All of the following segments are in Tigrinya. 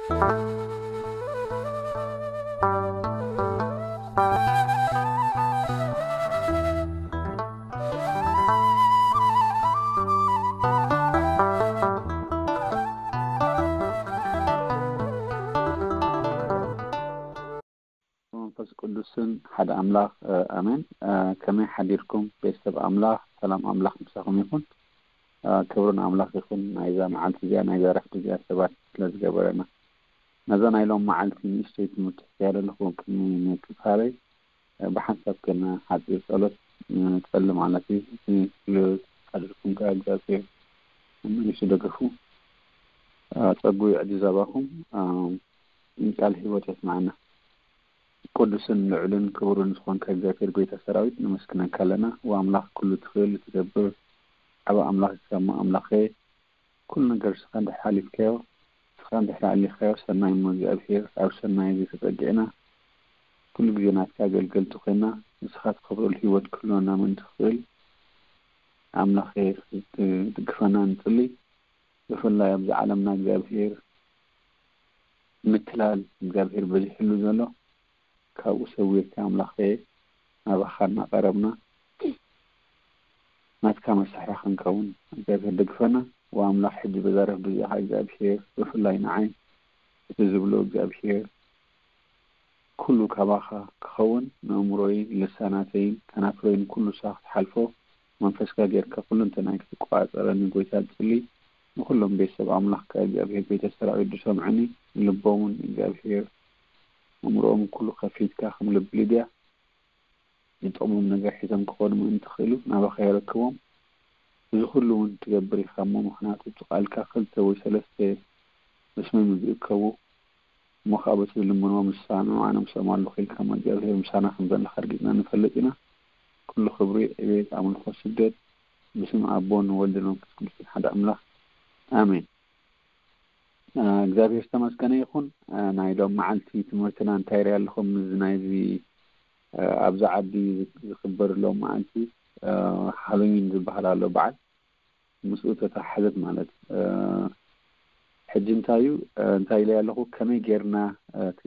መንፈስ ቅዱስን ሓደ ኣምላኽ፣ ኣሜን። ከመይ ሓዲርኩም ቤተሰብ ኣምላኽ? ሰላም ኣምላኽ ምሳኹም ይኹን። ክብርን ኣምላኽ ይኹን ናይዛ መዓልቲ እዚኣ፣ ናይዛ ረፍቲ እዚኣ ሰባት ስለ ዝገበረና። ነዛ ናይ ሎም መዓልቲ ንእሽተይ ትምህርቲ ሒዘ ኣለኹ። ቅድሚ ምክፋለይ ብሓንሳብ ከና ሓፂር ጸሎት ንጸሊ ማለት እዩ። ሓድርኩም ከኣ እግዚኣብሔር መሊሱ ደገፉ፣ ጸጉ ይዕዲ ዘባኹም፣ ቃል ህይወት የስማዕና። ቅዱስን ልዑልን ክቡርን ዝኾንካ እግዚኣብሔር ጎይታ ሰራዊት ነመስግነካ ኣለና። ወኣምላኽ ኩሉ ትኽእል ትገብር ዓቢ ኣምላኽ ከሞ ኣምላኸ፣ ኩሉ ነገር ንስኻ እንድሕር ሓሊፍካዮ፣ ንስኻ እንድሕር ኣሊኻዮ ሰናይ እሞ እግዚኣብሔር ኣብ ሰናይ እዚ ተጸጊዕና ኩሉ ግዜ ናትካ ኣገልገልቲ ኮይና ንስኻ ትኸብረሉ ህይወት ክህልወና ምእንቲ ትኽእል ኣምላኸ ክትድግፈና ንጽሊ። ብፍላይ ኣብዚ ዓለምና እግዚኣብሔር ምትላል እግዚኣብሔር በዚሕሉ ዘሎ ካብኡ ሰዊርካ ኣምላኸ ናባኻ እናቐረብና ናትካ መሳርያ ክንከውን እግዚኣብሔር ደግፈና። ወኣምላኽ ሕጂ በዛ ረፍዲ እዚኣ እግዚኣብሔር ብፍላይ ንዓይ እቲ ዝብሎ እግዚኣብሔር ኩሉ ካባኻ ክኸውን ንእምሮይ ልሳናተይን ከናፍረይን ኩሉ ሳኽ ትሓልፎ መንፈስካ ጌርካ ኩሉ እንተናይ ክትቆጻጸረኒ ጎይታ ጽሊ። ንኹሎም ቤተሰብ ኣምላኽካ እግዚኣብሔር ቤተ ሰራዊት ዝሰምዑኒ ልቦምን እግዚኣብሔር እምሮኦም ኩሉ ከፊትካ ከም ልቢ ልድያ ዝጠቕሞም ነገር ሒዞም ክኾኑ ምእንቲ ክኽእሉ ናባኻ የረክቦም። እዚ ኩሉ እውን ትገብር ኢኻ እሞ ምኽንያቱ እቲ ቃልካ ክልተ ወይ ሰለስተ ብስመይ ምዝእከቡ እሞ ከዓ በቲ ዝልምንዎ ምሳኑ ኣነ ምስኦም ኣለኹ ኢልካ እሞ እግዚኣብሔር ምሳና ከም ዘለኻ ኣርጊጽና ንፈልጥ ኢና። ኩሉ ክብሪ ዕቤት ኣምልኾ ስግደት ብስም ኣቦን ወልድን መንፈስ ቅዱስን ሓደ ኣምላኽ ኣሜን። እግዚኣብሔር ዝተመስገነ ይኹን። ናይ ሎም መዓልቲ ትምህርትና እንታይ ርኢ ኣለኹም? እዚ ናይዚ ኣብዚ ዓዲ ዝኽበር ሎም መዓልቲ ሃሎዊን ዝበሃል ኣሎ በዓል ምስኡ ተተሓዘት ማለት ሕጂ እንታይ እዩ እንታይ ኢለ ኣለኹ ከመይ ጌርና እቲ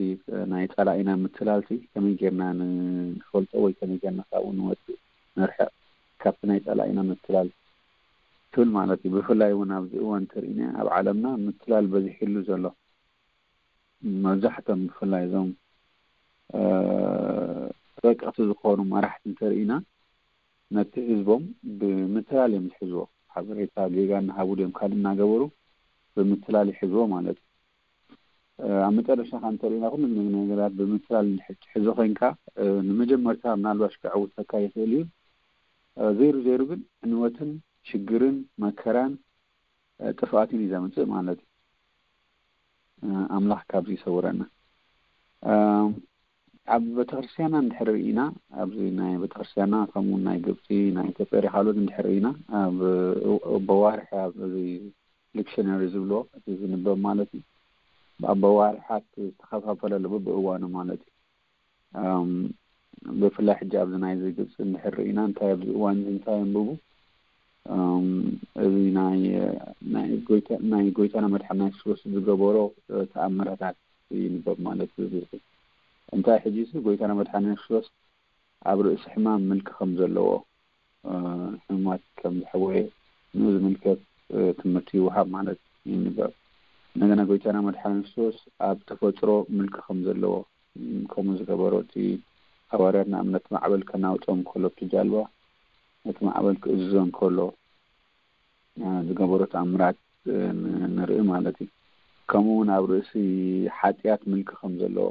ናይ ጸላኢና ምትላልቲ ከመይ ጌርና ንፈልጦ ወይ ከመይ ጌርና ካብኡ ንወፅእ ንርሕቕ ካብቲ ናይ ጸላኢና ምትላል ትብል ማለት እዩ። ብፍላይ እውን ኣብዚ እዋን እንተርኢና ኣብ ዓለምና ምትላል በዚሕሉ ዘሎ መብዛሕቶም ብፍላይ እዞም ተጠቀቲ ዝኾኑ መራሕቲ እንተርኢና ነቲ ህዝቦም ብምትላል እዮም ዝሕዝዎ። ሓበሬታ ጌጋ እናሃቡ ድዮም ካልእ እናገበሩ ብምትላል ይሕዝዎ ማለት እዩ። ኣብ መጨረሻ ከ እንተርኢና ኩሉ ነገራት ብምትላል ትሕዞ ኮይንካ ንመጀመርታ ምናልባሽ ከዕውተካ ይኽእል እዩ። ዘይሩ ዘይሩ ግን ዕንወትን ሽግርን መከራን ጥፍኣትን እዩ ዘምፅእ ማለት እዩ። ኣምላኽ ካብዚ ይሰውረና። ኣብ ቤተክርስትያና እንድሕር ርኢና ኣብዚ ናይ ቤተክርስትያና ከምኡ ናይ ግብፂ ናይ ኢትዮጵያ ካልኦት እንድሕር ርኢና ኣብ በዋርሒ ኣብዚ ዲክሽነሪ ዝብልዎ እቲ ዝንበብ ማለት እዩ። ኣብ በዋርሓት ዝተኸፋፈለ ኣሎ ብብእዋኑ ማለት እዩ። ብፍላይ ሕጂ ኣብዚ ናይዚ ግብፂ እንድሕር ርኢና እንታይ ኣብዚ እዋን እዚ እንታይ ኣንብቡ እዚ ናይ ጎይታና መድሓና የሱስ ዝገበሮ ተኣምራታት ይንበብ ማለት እዩ። እንታይ ሕጂ ሲ ጎይታና መድሓና የሱስ ኣብ ርእሲ ሕማም ምልኪ ከም ዘለዎ ሕሙማት ከም ዝሕወየ ንኡ ዝምልከት ትምህርቲ ይወሃብ ማለት ይንበብ። እንደገና ጎይታና መድሓና የሱስ ኣብ ተፈጥሮ ምልኪ ከም ዘለዎ ከምኡ ዝገበሮ እቲ ሃዋርያት ንኣብነት ማዕበል ከናውጾም ከሎ እቲ ጃልባ ነቲ ማዕበል ክእዝዞ እንከሎ ዝገበሮ ተኣምራት ንርኢ ማለት እዩ። ከምኡ እውን ኣብ ርእሲ ሓጢኣት ምልኪ ከም ዘለዎ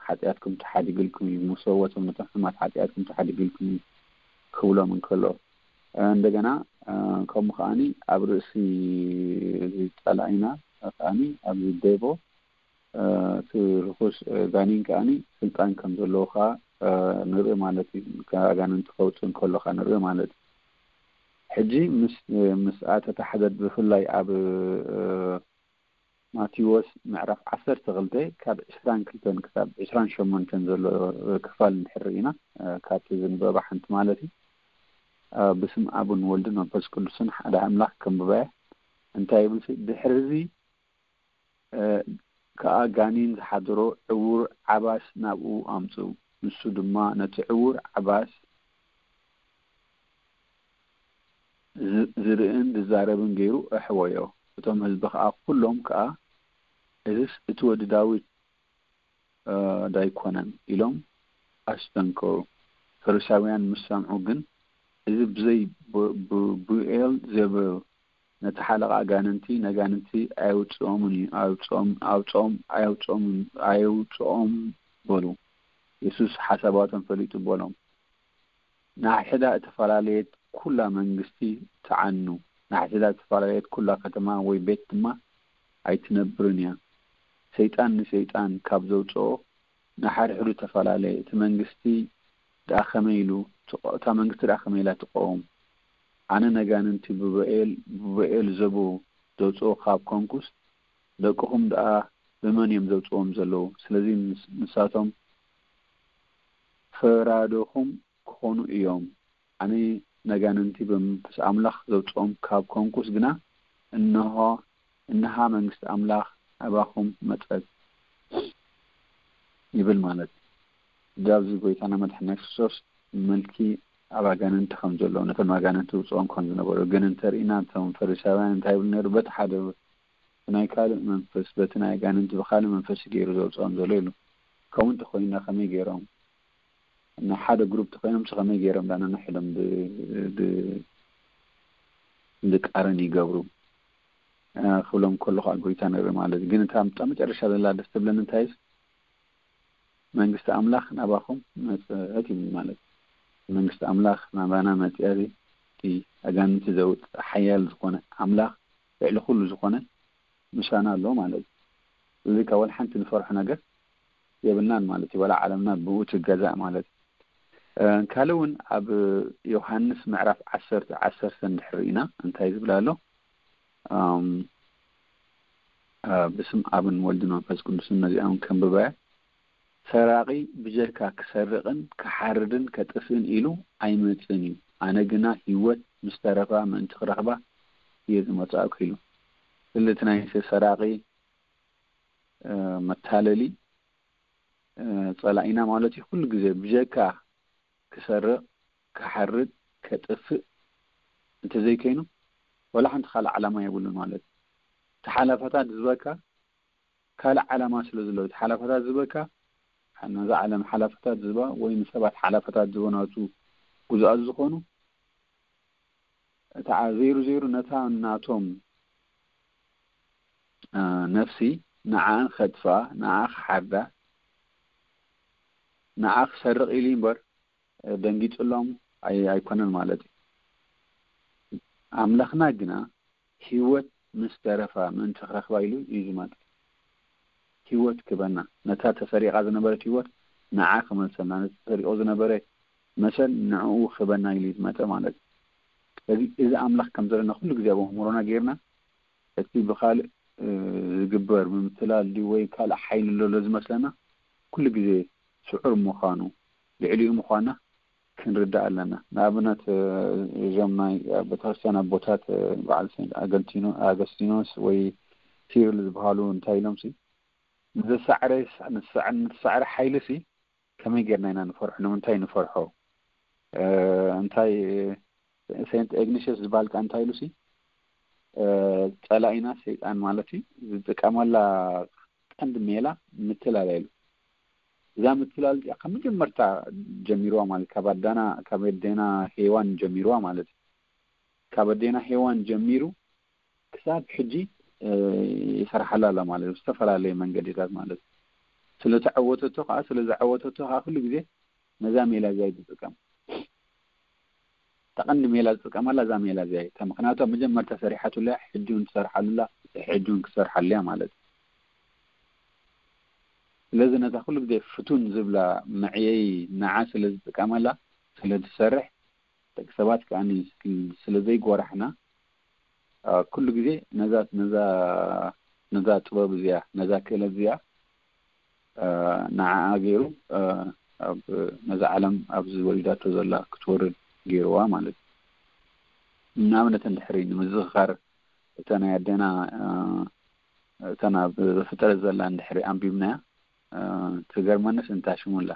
ሓጢኣትኩም ተሓዲግልኩም እዩ፣ ምስ ሰውበቶም ነቶም ሕማት ሓጢኣትኩም ተሓዲግልኩም እዩ ክብሎም እንከሎ እንደገና ከምኡ ከዓኒ ኣብ ርእሲ እዚ ጸላኢና ከዓኒ ኣብዚ ዴቦ እቲ ርኹስ ጋኒን ከዓኒ ስልጣን ከም ዘለዎ ከዓ ንርኢ ማለት እዩ። ኣጋንንቲ ከውፅእ እንከሎ ከዓ ንርኢ ማለት እዩ። ሕጂ ምስ ምስኣ ተታሕዘት ብፍላይ ኣብ ማቴዎስ ምዕራፍ ዓሰርተ ክልተ ካብ ዕስራን ክልተን ክሳብ ዕስራን ሸሞንተን ዘሎ ክፋል እንድሕር ርኢና ካብቲ ዝንበባ ሓንቲ ማለት እዩ። ብስም ኣብን ወልድን መንፈስ ቅዱስን ሓደ ኣምላኽ ከንብባያ እንታይ ይብል ድሕሪ እዚ ከኣ ጋኔን ዝሓደሮ ዕዉር ዓባስ ናብኡ ኣምጽኡ። ንሱ ድማ ነቲ ዕዉር ዓባስ ዝ-፣ ዝርእን ዝዛረብን ገይሩ ኣሕወዮ። እቶም ህዝቢ ከኣ ኩሎም ከኣ፣ "እዝስ እቲ ወዲ ዳዊት፣ እ፣ ዳይኮነን?" ኢሎም ኣስተንከሩ። ፈሪሳውያን ምስ ሰምዑ ግን፣ "እዚ ብዘይ ብ-፣ ብ-፣ ብኤል ዜቡል ነቲ ሓለቓ ኣጋንንቲ፣ ነጋንንቲ ኣየውጽኦምን እዩ፣ ኣውጽኦም፣ ኣውጽኦም፣ ኣየውጽኦምን፣ ኣየውጽኦም" በሉ። የሱስ ሓሳባቶም ፈሊጡ በሎም፣ "ንሓድሕዳ እተፈላለየት ኩላ መንግስቲ ትዓኑ፣ ንሓድሕዳ እተፈላለየት ኩላ ከተማ ወይ ቤት ድማ ኣይትነብርን እያ። ሰይጣን ንሰይጣን ካብ ዘውጽኦ ንሓድሕዱ ተፈላለየ። እቲ መንግስቲ ደኣ ከመይ ኢሉ ትቆ-፣ እታ መንግስቲ ደኣ ከመይ ኢላ ትቆውም? ኣነ ነጋንንቲ ብበኤል፣ ብበኤል ዘቡል ዘውጽኦ ካብ ኮንኩስ፣ ደቅኹም ደኣ ብመን እዮም ዘውጽዎም ዘለዉ? ስለዚ ንስ-፣ ንሳቶም ፈራዶኹም ክኾኑ እዮም። ኣነ ነጋንንቲ ብመንፈስ ኣምላኽ ዘውጽኦም ካብ ኮንኩስ ግና፣ እንሆ፣ እንሃ መንግስቲ ኣምላኽ ናባኹም መጸት" ይብል ማለት እዩ። እዚ ኣብዚ ጎይታና መድሓኒና ክርስቶስ ምልኪ ኣብ ኣጋንንቲ ከም ዘለዎ፣ ነቶም ኣጋንንቲ ውጽኦም ከም ዝነበሩ ግን እንተርኢና፣ እቶም ፈሪሳውያን እንታይ ይብሉ ነይሩ? በቲ ሓደ ናይ ካልእ መንፈስ፣ በቲ ናይ ኣጋንንቲ ብኻልእ መንፈስ ገይሩ ዘውጽኦም ዘሎ ኢሉ። ከምኡ እንተኾይንና ከመይ ገይሮም? ንሓደ ግሩፕ ተኾይኖም ከመይ ገይሮም ዳና ንሕሎም ብ-፣ ብ-፣ ብቃረን ይገብሩ? እ፣ ክብሎም ከሎ ከዓ ጎይታ ነይሩ ማለት እዩ። ግን እታ፣ እታ መጨረሻ ዘላ ደስ ትብለኒ እንታይ እዩ? "መንግስቲ ኣምላኽ ናባኹም መጸት" ይብል ማለት እዩ። መንግስቲ ኣምላኽ ናባና መጽያ እዚ፣ እቲ ኣጋንንቲ ዘውጽእ ሓያል ዝኾነ ኣምላኽ፣ ልዕሊ ኩሉ ዝኾነ ምሳና ኣሎ ማለት እዩ። ስለዚ ካብ ወላ ሓንቲ ንፈርሖ ነገር የብልናን ማለት እዩ። ወላ ዓለምና ብኡ ትገዛእ ማለት እዩ። እ፣ ካልእ እውን ኣብ ዮሃንስ ምዕራፍ ዓሰርተ፣ ዓሰርተ እንድሕር ርኢና እንታይ ዝብል ኣሎ? ኣም፣ እ፣ ብስም ኣብን ወልድን መንፈስ ቅዱስን ነዚኣም ከንብበያ። "ሰራቒ ብጀካ ክሰርቕን ክሓርድን ከጥፍእን ኢሉ ኣይመጽእን እዩ። ኣነ ግና ህይወት ምስ ተረፋ ምእንቲ ክረኽባ እየ ዝመጻእኩ" ኢሉ። ስለዚ እቲ ናይ ሰራቒ፣ እ፣ መታለሊ፣ እ፣ ጸላኢና ማለት እዩ። ኩሉ ግዜ ብጀካ ክሰርቕ፣ ክሓርድ፣ ከጥፍእ እንተዘይከይኑ፣ ወላ ሓንቲ ካልእ ዓላማ የብሉን ማለት እዩ። እቲ ሓላፋታት ዝበካ ካልእ ዓላማ ስለ ዘለዎ፣ እቲ ሓላፋታት ዝበካ፣ ነዛ ዓለም ሓላፋታት ዝባ ወይ ንሰባት ሓላፋታት ዝቦ ናቱ ጉዙኣት ዝኾኑ፣ እታ ዘይሩ ዘይሩ ነታ ናቶም፣ እ፣ ነፍሲ ንዓኣን ከጥፍኣ፣ ንዓ ክሓርዳ፣ ንዓ ክሰርቕ ኢሉ እምበር፣ እ፣ ደንጊጽሎም ኣይ-፣ ኣይኮነን ማለት እዩ። ኣምላኽና ግና ህይወት ምስ ተረፋ ምእንቲ ክረኽባ ኢሉ እዩ ዝመጽእ። ህይወት ክበና፣ ነታ ተሰሪቓ ዝነበረት ህይወት ንዓ ክመልሰልና፣ ነቲ ተሰሪቑ ዝነበረ መሰል ንዕኡ ክበና ኢሉ እዩ ዝመጸ ማለት እዩ። ስለዚ እዚ ኣምላኽ ከም ዘለና ኩሉ ግዜ ኣብ ኣእምሮና ጌርና፣ እቲ ብኻልእ፣ እ፣ ዝግበር ምምትላል ድዩ ወይ ካልእ ሓይሊ ዘሎ ዝመስለና፣ ኩሉ ግዜ ስዑር ምዃኑ፣ ልዕሊኡ ምዃና ክንርዳእ ኣለና። ንኣብነት፣ እ፣ እዞም ናይ ቤተክርስትያን ኣቦታት፣ እ፣ በዓል ሴንት ኣገንቲኖ-፣ ኣገስቲኖስ ወይ ሲሪል ዝበሃሉ እንታይ ኢሎም ሲ፣ ንዘሳዕረ፣ ንዝሳዕ-፣ ንዝሳዕረ ሓይሊ ሲ ከመይ ጌርና ኢና ንፈርሖ? ንምንታይ ንፈርሖ? እ፣ እንታይ፣ ሴንት ኢግኒሽስ ዝበሃል ከኣ እንታይ ኢሉ ሲ፣ እ፣ ጸላኢና ሰይጣን ማለት እዩ፣ ዝጥቀመላ ቀንዲ ሜላ ምትላል ኢሉ። እዛ ምትላል እዚኣ ካብ መጀመርታ ጀሚርዋ ማለት፣ ካብ ኣዳና፣ ካብ ኣዴና ሄዋን ጀሚርዋ ማለት እዩ። ካብ ኣዴና ሄዋን ጀሚሩ ክሳብ ሕጂ፣ እ፣ ይሰርሓላ ኣላ ማለት እዩ፣ ብዝተፈላለየ መንገድታት ማለት እዩ። ስለ ተዓወተቶ ከዓ፣ ስለ ዘዓወተቶ ከዓ ኩሉ ግዜ ነዛ ሜላ እዚኣ እዩ ዝጥቀም። እታ ቀንዲ ሜላ ዝጥቀመላ እዛ ሜላ እዚኣ እዩ። እታ ምኽንያቱ ኣብ መጀመርታ ሰሪሓትሉ እያ፣ ሕጂ እውን ትሰርሓሉ ኣላ፣ ሕጂ እውን ክትሰርሓሉ እያ ማለት እዩ። ስለዚ ነታ ኩሉ ግዜ ፍቱን ዝብላ መዕየዪ ንዓ ስለ ዝጥቀመላ፣ ስለ ትሰርሕ፣ ደቂ ሰባት ከኣ ስለ ዘይጎራሕና፣ አ፣ ኩሉ ግዜ ነዛ፣ ነዛ፣ ነዛ ጥበብ እዚኣ፣ ነዛ ክእለት እዚኣ፣ አ፣ ንዓኣ ገይሩ፣ አ፣ ኣብ፣ ነዛ ዓለም ኣብዚ ወሪዳቶ ዘላ ክትወርድ ገይርዋ ማለት እዩ። ንኣብነት እንድሕሪ ንምዝኽኻር እታ ናይ ኣዴና፣ አ፣ እተን ኣብ ዘፍጥረት ዘላ እንድሕሪ ኣንቢብናያ፣ እ፣ ትገርመንስ እንታ ሽሙላ።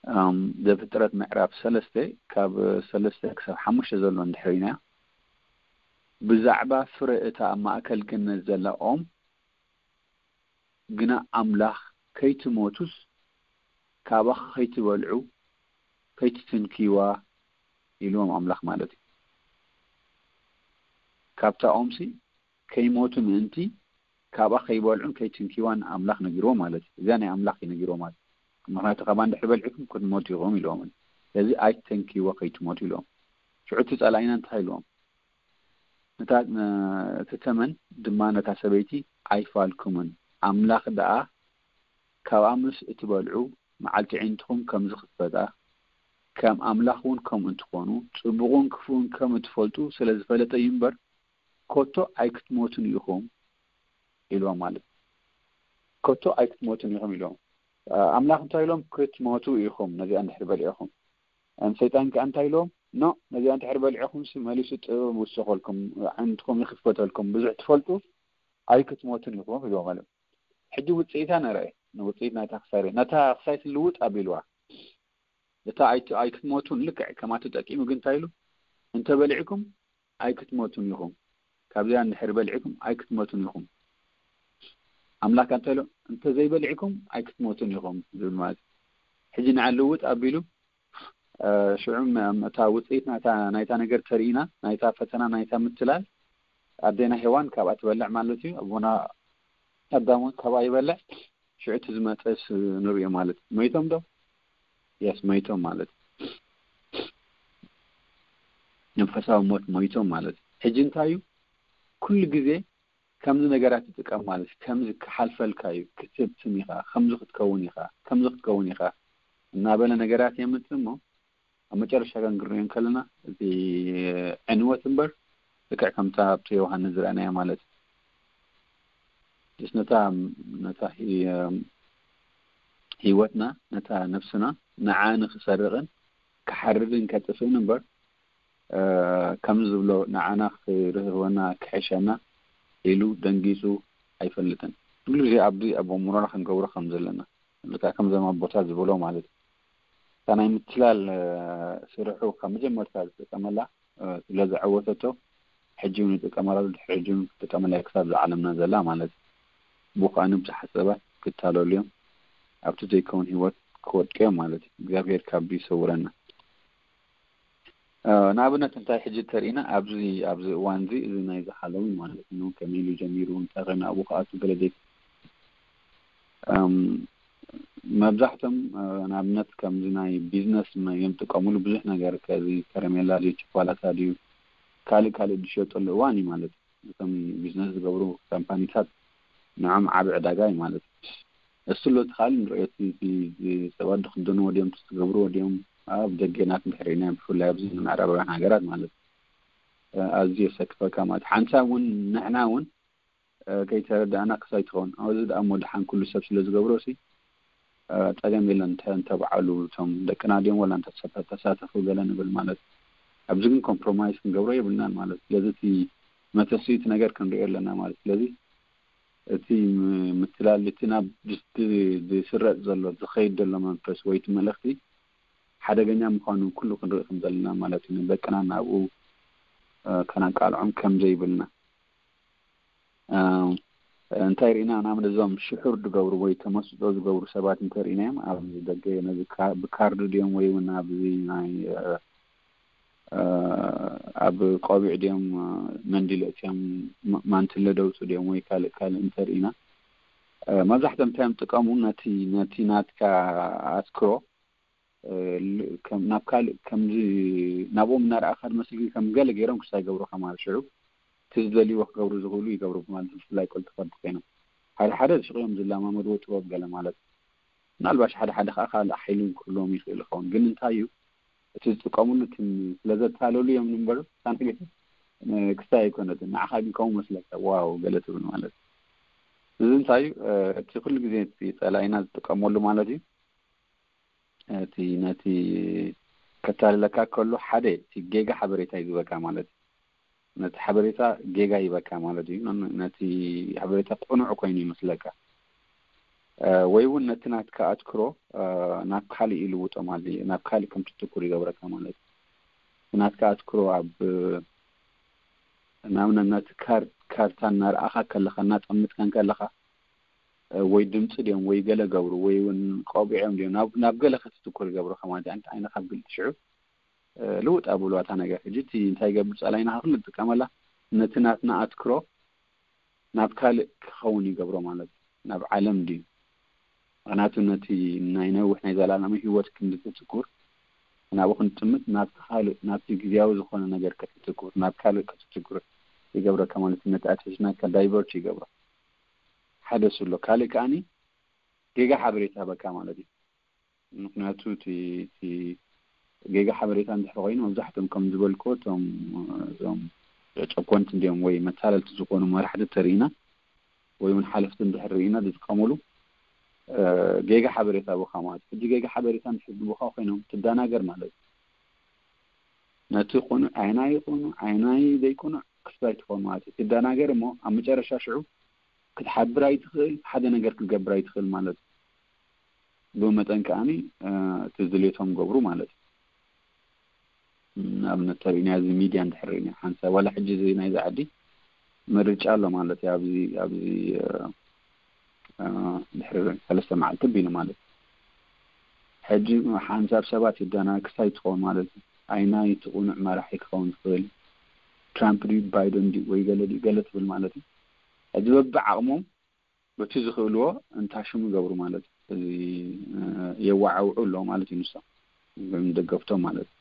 እም፣ ዘፍጥረት ምዕራፍ ሰለስተ ካብ ሰለስተ ክሳብ ሓሙሽተ ዘሎ እንድሕሪናያ፣ ብዛዕባ ፍረ እታ ኣብ ማእከል ገነት ዘላ ኦም ግና ኣምላኽ ከይትሞቱስ ካብኣ ከይትበልዑ ከይትትንክይዋ ኢልዎም ኣምላኽ ማለት እዩ። ካብታ ኦምሲ ከይሞቱ ምእንቲ ካብኣ ከይበልዑን ከይትንክይዋን ኣምላኽ ነጊርዎ ማለት እዩ። እዚኣ ናይ ኣምላኽ እዩ ነጊርዎ ማለት እዩ። ምኽንያቱ ካብኣ እንድሕር በልዕኩም ክትሞቱ ኢኹም ኢልዎም። ስለዚ ኣይትተንክይዎ ከይትሞቱ ኢልዎም። ሽዑ እቲ ጸላኢና እንታይ ኢልዎም? ነታ፣ ነ-፣ እቲ ተመን ድማ ነታ ሰበይቲ ኣይፋልኩምን። ኣምላኽ ደኣ ካብኣ ምስ እትበልዑ መዓልቲ ኣዒንትኹም ከም ዝኽፈታ፣ ከም ኣምላኽ እውን ከምኡ እንትኾኑ፣ ጽቡቕን ክፉእን ከም እትፈልጡ ስለ ዝፈለጠ እዩ እምበር፣ ኮቶ ኣይክትሞቱን ኢኹም ኢልዎም ማለት እዩ። ኮቶ ኣይክትሞቱን ኢኹም ኢልዎም። እ፣ ኣምላኽ እንታይ ኢሎም? ክትሞቱ ኢኹም ነዚኣ እንድሕር በሊዕኹም። እም፣ ሰይጣን ከኣ እንታይ ኢልዎም? ኖ፣ ነዚኣ እንድሕር በሊዕኹም ሲ መሊሱ ጥበብ ይውሰኸልኩም፣ ኣዒንትኹም ይኽፈተልኩም፣ ብዙሕ ትፈልጡ ኣይክትሞቱን ኢኹም ኢልዎም ማለት እዩ። ሕጂ ውጽኢታ ንርኣይ፣ ንውጽኢት ናይታ ክሳይ፣ ነታ ክሳይት ልውጥ ኣቢልዋ። እታ ኣይት-፣ ኣይክትሞቱን ልክዕ ከማቱ ጠቂሙ ግን እንታይ ኢሉ? እንተ በሊዕኩም ኣይክትሞቱን ኢኹም። ካብዚኣ እንድሕር በሊዕኩም ኣይክትሞቱን ኢኹም። ኣምላኽ እንታይ ኢሉ? እንተ ዘይበሊዕኩም ኣይክትሞቱን ኢኹም ዝብል ማለት እዩ። ሕጂ ንዓ ልውጥ ኣቢሉ፣ እ፣ ሽዑ ም-፣ እታ ውጽኢት ናይታ፣ ናይታ ነገር ተርእና፣ ናይታ ፈተና፣ ናይታ ምትላል፣ ኣዴና ሄዋን ካብኣ ትበልዕ ማለት እዩ። ኣቦና ኣዳም እውን ካብኣ ይበልዕ። ሽዑ እቲ ዝመጸስ ንርእዮ ማለት እዩ። ሞይቶም ዶ? የስ፣ ሞይቶም ማለት እዩ። መንፈሳዊ ሞት ሞይቶም ማለት እዩ። ሕጂ እንታይ እዩ? ኩሉ ግዜ ከምዚ ነገራት ትጥቀም ማለት እዩ። ከምዚ ክሓልፈልካ እዩ፣ ክትብትም ኢኻ፣ ከምዚ ክትከውን ኢኻ፣ ከምዚ ክትከውን ኢኻ እናበለ ነገራት የምጽእ እሞ፣ ኣብ መጨረሻ ግን ክንሪኦ እንከለና፣ እቲ ዕንወት እምበር፣ ልክዕ ከምታ ኣብቲ ዮሃንስ ዝረኣናዮ ማለት እዩ። ምስ ነታ፣ ነታ ሂ-፣ ህይወትና፣ ነታ ነፍስና፣ ንዓ ንኽሰርቕን ክሓርድን ከጥፍእን እምበር፣ እ፣ ከምዚ ዝብሎ ንዓና ክርህወና፣ ክሕሸና ኢሉ ደንጊጹ ኣይፈልጥን። ኩሉ ግዜ ኣብዚ ኣብ ኣእምሮና ክንገብሮ ከም ዘለና፣ ልክዕ ከምዞም ኣቦታት ዝበሎ ማለት እዩ። እታ ናይ ምትላል፣ እ፣ ስርሑ ካብ መጀመርታ ዝጥቀመላ፣ እ፣ ስለ ዘዐወተቶ፣ ሕጂ እውን ይጥቀመላ፣ ድሕሪ ሕጂ እውን ክትጥቀመላ እያ ክሳብ እዛ ዓለምና ዘላ ማለት እዩ። ብኡ ከኣ ብዙሓት ሰባት ክታለሉ እዮም፣ ኣብቲ ዘይከውን ህይወት ክወድቁ እዮም ማለት እዩ። እግዚኣብሔር ካብ ይሰውረና። እ፣ ንኣብነት እንታይ ሕጂ ተርእና ኣብዚ፣ ኣብዚ እዋን እዚ፣ እዚ ናይዚ ሃሎዊን ማለት ነው፣ ከመይ ኢሉ ጀሚሩ፣ እንታይ ከ ናብኡ ክኣቱ ገለ ዘይ-፣ እም፣ መብዛሕቶም፣ እ፣ ንኣብነት ከምዚ ናይ ቢዝነስ መ-፣ እዮም ዝጥቀሙሉ ብዙሕ ነገር፣ ከዚ ከረሜላ ድዩ፣ ቸኮላታ ድዩ፣ ካልእ ካልእ ዝሸጠሉ እዋን እዩ ማለት እዩ። እቶም ቢዝነስ ዝገብሩ ካምፓኒታት ንዖም ዓቢ ዕዳጋ እዩ ማለት እዩ። እሱ ኣሎ እቲ ካልእ ንርእዮ፣ እቲ፣ እቲ፣ እቲ ሰባት ዝኽደንዎ ድዮም፣ እቲ ዝገብርዎ ድዮም፣ ኣብ ደገ ናት እንድሕር ርኢና፣ ብፍላይ ኣብዚ ምዕራባውያን ሃገራት ማለት እዩ። እ፣ ኣዝዩ የሰክፈካ ማለት እዩ። ሓንሳብ እውን ንሕና እውን፣ እ፣ ከይተረዳእና ክሳይ ትኸውን። ኣብዚ ደኣ እሞ ደሓን ኩሉ ሰብ ስለ ዝገብሮ ሲ፣ እ፣ ጸገም የለን። እንተ፣ እንተ በዓሉ እቶም ደቅና ድዮም ወላ እንተ ተሳተ-፣ ተሳተፉ ገለ ንብል ማለት እዩ። ኣብዚ ግን ኮምፕሮማይዝ ክንገብሮ የብልናን ማለት እዩ። ስለዚ እቲ መተስኢቲ ነገር ክንሪኦ ኣለና ማለት እዩ። ስለዚ እቲ ም-፣ ምትላል፣ እቲ ናብ ዝ-፣ ዝ-፣ ዝስረጽ ዘሎ፣ ዝኸይድ ዘሎ መንፈስ ወይ እቲ መልእኽቲ ሓደገኛ ምዃኑ ኩሉ ክንርኢ ከም ዘለና ማለት እዩ። ንደቅና ናብኡ፣ እ፣ ከነቃልዖም ከም ዘይብልና። እ፣ እንታይ ርኢና? ንኣብነት እዞም ሽሑር ዝገብሩ ወይ ተመስጦ ዝገብሩ ሰባት እንተ ርኢናዮም፣ ኣብ ደገ ነዚ ካ-፣ ብካርድ ድዮም ወይ እውን ኣብዚ ናይ፣ እ፣ እ፣ ኣብ ቆቢዕ ድዮም፣ እ፣ መንዲል ኣእትዮም፣ ማ-፣ ማንትለ ደውጹ ድዮም ወይ ካልእ ካልእ እንተ ርኢና፣ እ፣ መብዛሕትኦም እንታይ እዮም ዝጥቀሙ? ነቲ፣ ነቲ ናትካ ኣትክሮ፣ እ፣ ል-፣ ከም፣ ናብ ካልእ ከምዚ ናብኦም እናረኣኻ ዝመስል ከም ገለ ገይሮም ክሳይ ይገብሩኻ ማለት ሽዑ እቲ ዝደልይዎ ክገብሩ ዝኽእሉ ይገብሩ ማለት ብፍላይ ቀልጡፍ ወዲ ኮይኖም። ሓደ ሓደ ሽቕ እዮም ዝለማመድዎ ጥበብ ገለ ማለት። ምናልባሽ ሓደ ሓደ ከዓ ካልእ ሓይሊ ክህልዎም ይኽእል ይኸውን። ግን እንታይ እዩ እቲ ዝጥቀምሉ እቲ ስለ ዘታለሉ እዮም እምበር ሳንቲም ክስታይ ኣይኮነትን። ንዓኻ ግን ከምኡ መስለካ ዋው ገለ ትብል ማለት። እዚ እንታይ እዩ? እ፣ እቲ ኩሉ ግዜ እቲ ጸላኢና ዝጥቀመሉ ማለት እዩ። እቲ ነቲ ከታልለካ ከሎ ሓደ እቲ ጌጋ ሓበሬታ እዩ ዝበካ ማለት እዩ። ነቲ ሓበሬታ ጌጋ ይበካ ማለት እዩ። ነቲ ሓበሬታ ቅኑዕ ኮይኑ ይመስለካ። ወይ እውን ነቲ ናትካ ኣትክሮ ናብ ካልእ ይልውጦ ማለት እዩ። ናብ ካልእ ከም ትትኩር ይገብረካ ማለት እዩ። ናትካ ኣትክሮ ኣብ ንኣብነት ነቲ ካርታ እናረኣኻ ከለኻ፣ እናጠምትካን ከለኻ፣ ወይ ድምፂ ድዮም ወይ ገለ ገብሩ ወይ እውን ቆቢዖም ድዮም ናብ ገለ ክትትኩር ይገብሩካ ማለት እዩ። ዓይንኻ ኣብ ግልፂ ሽዑ ልውጥ ኣብሉ እታ ነገር። ሕጂ እቲ እንታይ ይገብር ጸላኢና ኩሉ ንጥቀመላ፣ ነቲ ናትና ኣትክሮ ናብ ካልእ ክኸውን ይገብሮ ማለት እዩ። ናብ ዓለም ድዩ? ምኽንያቱ ነቲ ናይ ነዊሕ ናይ ዘላለማዊ ህይወት ክንዲ ትትኩር፣ ናብኡ ክንጥምት፣ ናብቲ ካልእ፣ ናብቲ ግዝያዊ ዝኾነ ነገር ክትትኩር፣ ናብ ካልእ ክትትኩር ይገብረካ ማለት እዩ። ነቲ ኣትንሽንካ ዳይቨርት ይገብሮ። ሓደ እሱ ኣሎ። ካልእ ከኣኒ ጌጋ ሓበሬታ በካ ማለት እዩ። ምኽንያቱ እቲ ጌጋ ሓበሬታ እንድሕር ኮይኑ፣ መብዛሕትኦም ከም ዝበልክዎ እቶም እዞም ጨኮንቲ እንዲኦም ወይ መታለልቲ ዝኾኑ መራሕቲ ተርኢና ወይ እውን ሓለፍቲ እንድሕር ርኢና ዝጥቀሙሉ ጌጋ ሓበሬታ ብኻ ማለት። ሕጂ ጌጋ ሓበሬታ እንድሕር ብኻ ኮይኖም ትደናገር ማለት እዩ። ነቲ ቁኑዕ ዓይናይ ቁኑዕ ዓይናይ ዘይቁኑዕ ክስታይ ትኾን ማለት እዩ። ትደናገር እሞ ኣብ መጨረሻ ሽዑ ክትሓብር ኣይትኽእል፣ ሓደ ነገር ክትገብር ኣይትኽእል ማለት እዩ። ብኡ መጠን ከኣኒ እቲ ዝድልየቶም ገብሩ ማለት እዩ። ንኣብነት ተሪእና እዚ ሚድያ እንድሕር ርኢና ሓንሳብ ዋላ ሕጂ እዚ ናይዚ ዓዲ ምርጫ ኣሎ ማለት እዩ። ኣብዚ ኣብዚ ድሕሪ ሰለስተ መዓልቲ ቢሉ ማለት እዩ። ሕጂ ሓንሳብ ሰባት ይዳና ክሳይ ትኸውን ማለት እዩ። ኣይናይ እቲ ቁኑዕ መራሒ ክኸውን ትኽእል፣ ትራምፕ ድዩ ባይደን ድዩ ወይ ገለ ድዩ ገለ ትብል ማለት እዩ። ሕጂ በብዓቕሞም በቲ ዝኽእልዎ እንታሽሙ ይገብሩ ማለት እዩ። እዚ የዋዓውዑ ኣለዎ ማለት እዩ። ንሶም ደገፍቶም ማለት እዩ።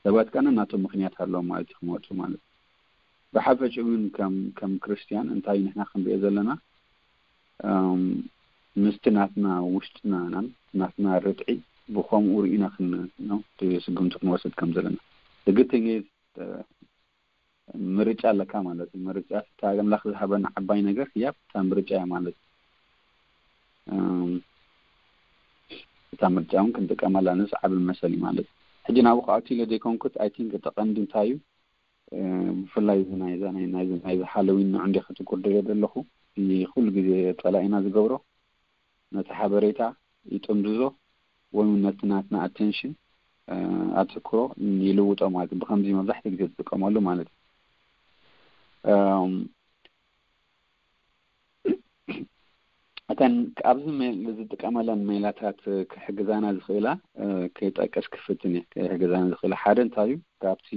ሰባት ከነ ናቶም ምኽንያት ኣለዎም ማለት እዩ ክመፁ ማለት እዩ። ብሓፈሽኡ ግን ከም ከም ክርስትያን እንታይ ንሕና ክንሪኦ ዘለና ምስቲ ናትና ውሽጥና ናም ናትና ርትዒ ብኸምኡ ርኢና ክን ስግምቲ ክንወስድ ከም ዘለና ግግተኛ ምርጫ ኣለካ ማለት እዩ። ምርጫ እታ ኣምላኽ ዝሃበና ዓባይ ነገር ህያብ እታ ምርጫ እያ ማለት እዩ። እታ ምርጫ እውን ክንጥቀመላ ንስ ዓብል መሰል እዩ ማለት እዩ። ሕጂ ናብኡ ክኣቱ ኢለ ዘይኮንኩት ኣይ ቲንክ እቲ ቀንዲ እንታይ እዩ ብፍላይ እዚ ናይዛ ናይዚ ሃለዊን ንዑ እንደ ክትቁር ደልየ ዘለኹ ኩሉ ግዜ ጸላኢና ዝገብሮ ነቲ ሓበሬታ ይጥምዝዞ ወይ እውን ነቲ ናትና ኣቴንሽን ኣትክሮ ይልውጦ ማለት እዩ። ብከምዚ መብዛሕትኡ ግዜ ዝጥቀመሉ ማለት እዩ። እተን ኣብዚ ዝጥቀመለን ሜላታት ክሕግዛና ዝኽእላ ክጠቅስ ክፍትን እየ። ክሕግዛና ዝኽእላ ሓደ እንታይ እዩ ካብቲ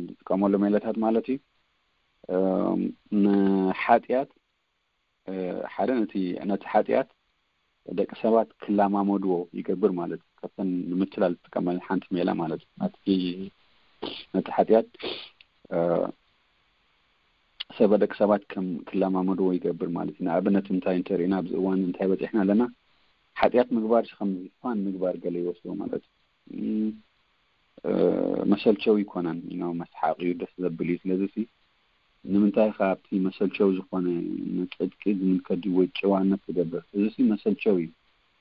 ዝጥቀመሉ ሜላታት ማለት እዩ ንሓጢኣት ሓደ ነቲ ነቲ ሓጢኣት ደቂ ሰባት ክለማመድዎ ይገብር ማለት እዩ። ካብተን ንምትላል ዝጥቀመለን ሓንቲ ሜላ ማለት እዩ። ነቲ ነቲ ሓጢኣት ሰበ ደቂ ሰባት ከም ክለማመድዎ ይገብር ማለት እዩ። ንኣብነት እንታይ እንተሪእና ኣብዚ እዋን እንታይ በፂሕና ኣለና? ሓጢኣት ምግባር ከም ዝፋን ምግባር ገለ ይወስዶ ማለት እዩ። መሰልቸው ይኮነን ነው መስሓቅ እዩ ደስ ዘብል እዩ። ስለዚ ሲ ንምንታይ ካብቲ መሰልቸው ዝኾነ ንጽድቂ ዝምልከት ድዩ ወይ ጭዋነት ትገብር? እዚ ሲ መሰልቸው እዩ።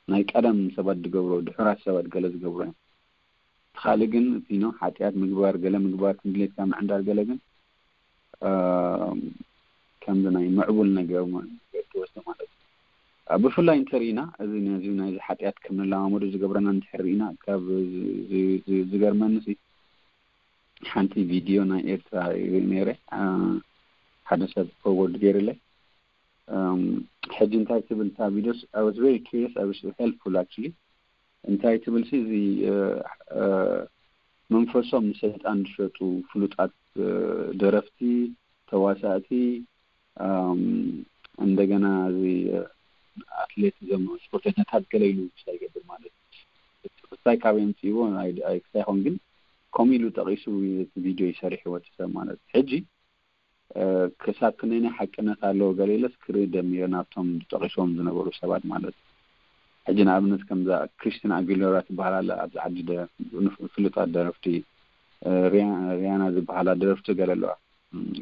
ናይ ቀደም ሰባት ዝገብሮ ድሑራት ሰባት ገለ ዝገብሮ እዮም። እቲ ካልእ ግን እቲ ነው ሓጢኣት ምግባር ገለ ምግባር ክንድሌትካ ምዕንዳር ገለ ግን ከምዚ ናይ ምዕቡል ነገር ትወስዶ ማለት እዩ። ብፍላይ እንተርኢና እዚ ነዚ ናይዚ ሓጢኣት ከም ንለማመዱ ዝገብረና እንድሕር ርኢና ካብ ዝገርመኒ ሲ ሓንቲ ቪድዮ ናይ ኤርትራ ርኢ ነይረ። ሓደ ሰብ ፎርወርድ ገይርለይ። ሕጂ እንታይ ትብል እታ ቪድዮስ? I was very curious, I was helpful actually። እንታይ ትብል ሲ እዚ መንፈሶም ንሰይጣን ዝሸጡ ፍሉጣት ደረፍቲ፣ ተዋሳእቲ፣ እንደገና እዚ ኣትሌት ዘም ስፖርተኛታት ገለ ኢሉ ክሳይ ይገብር ማለት እዩ። ክሳይ ካበይ ኣምፅእዎ ክሳይ ይኸውን ግን ከምኡ ኢሉ ጠቂሱ ቪድዮ ይሰርሕ ይወት ሰብ ማለት እዩ። ሕጂ ክሳብ ክንደይ ሓቅነት ኣለዎ ገለ ኢለስ ክርኢ ደሚረ ናብቶም ዝጠቂስዎም ዝነበሩ ሰባት ማለት እዩ። ሕጂ ንኣብነት ከምዛ ክሪስቲና ኣጊሎራ ትበሃል ኣላ ኣብዚ ዓዲ ፍሉጣት ደረፍቲ ሪያና ዝበሃላ ደረፍቲ ገለ ኣለዋ።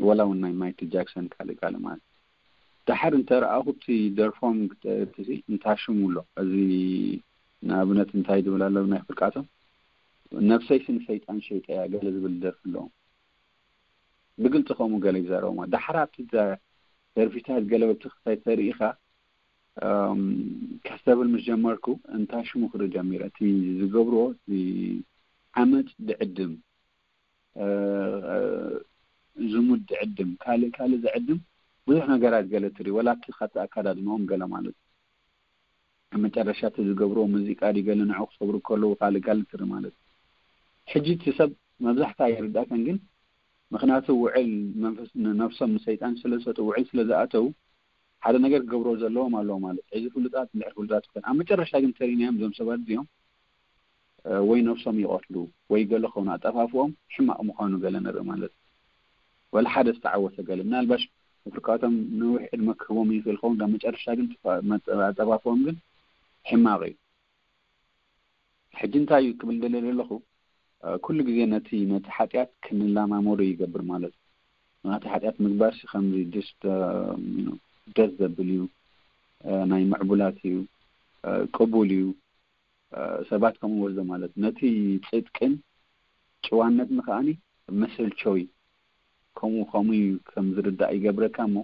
ወላ እውን ናይ ማይክል ጃክሰን ካልእ ካልእ ማለት ደሓር እንተ ረኣኹ እቲ ደርፎም ክጠርትሲ እንታይ ሽሙ ኣሎ እዚ ንኣብነት እንታይ ዝብል ኣሎ ናይ ፍርቃቶም ነፍሰይሲ ንሰይጣን ሸይጠያ ገለ ዝብል ደርፊ ኣለዎም። ብግልፂ ከምኡ ገለ ይዛረቡ ማለት። ዳሕራ ኣብቲ ደርፊታት ገለ ወብቲ ክሳይ ተርኢ ኢኻ ከስተብል ምስ ጀመርኩ እንታይ ሽሙ ክርኢ ጀሚረ። እቲ ዝገብርዎ ዓመፅ ድዕድም፣ ዝሙት ድዕድም፣ ካልእ ካልእ ዝዕድም ብዙሕ ነገራት ገለ ትርኢ፣ ወላ እቲ ካብቲ ኣካዳድንኦም ገለ ማለት እዩ። ኣብ መጨረሻ እቲ ዝገብርዎ ሙዚቃ ድዩ ገለ ንዕኡ ክሰብሩ ከለዉ ካልእ ካልእ ትርኢ ማለት እዩ። ሕጂ እቲ ሰብ መብዛሕታ ይርዳእከን ግን ምክንያቱ ውዕል መንፈስ ነብሶም ንሰይጣን ስለ ዝሰጡ ውዕል ስለ ዝኣተዉ ሓደ ነገር ክገብሮ ዘለዎም ኣለዎ ማለት እዩ። ሕዚ ፍሉጣት እንድሕር ፍሉጣት ይኮን ኣብ መጨረሻ ግን ተሪናዮም እዞም ሰባት እዚኦም ወይ ነብሶም ይቐትሉ ወይ ገለ ከውን ኣጠፋፍኦም ሕማቕ ምዃኑ ገለ ንርኢ ማለት እዩ። ወላ ሓደ ዝተዓወተ ገለ ምናልባሽ ምፍርቃቶም ነዊሕ ዕድመ ክህቦም ይኽእል ኸውን ዳ መጨረሻ ግን ኣጠፋፍኦም ግን ሕማቕ እዩ። ሕጂ እንታይ እዩ ክብል ደለ ዘለኹ ኩሉ ግዜ ነቲ ነቲ ሓጢኣት ክንላማመዶ ይገብር ማለት እዩ። ናቲ ሓጢኣት ምግባር ሲ ከምዚ ደስ ደስ ዘብል እዩ፣ ናይ ምዕቡላት እዩ፣ ቅቡል እዩ። ሰባት ከምኡ ወስዶ ማለት ነቲ ጽድቅን ጭዋነትን ከኣኒ መሰልቸው እዩ። ከምኡ ከምኡ እዩ ከም ዝርዳእ ይገብረካ እሞ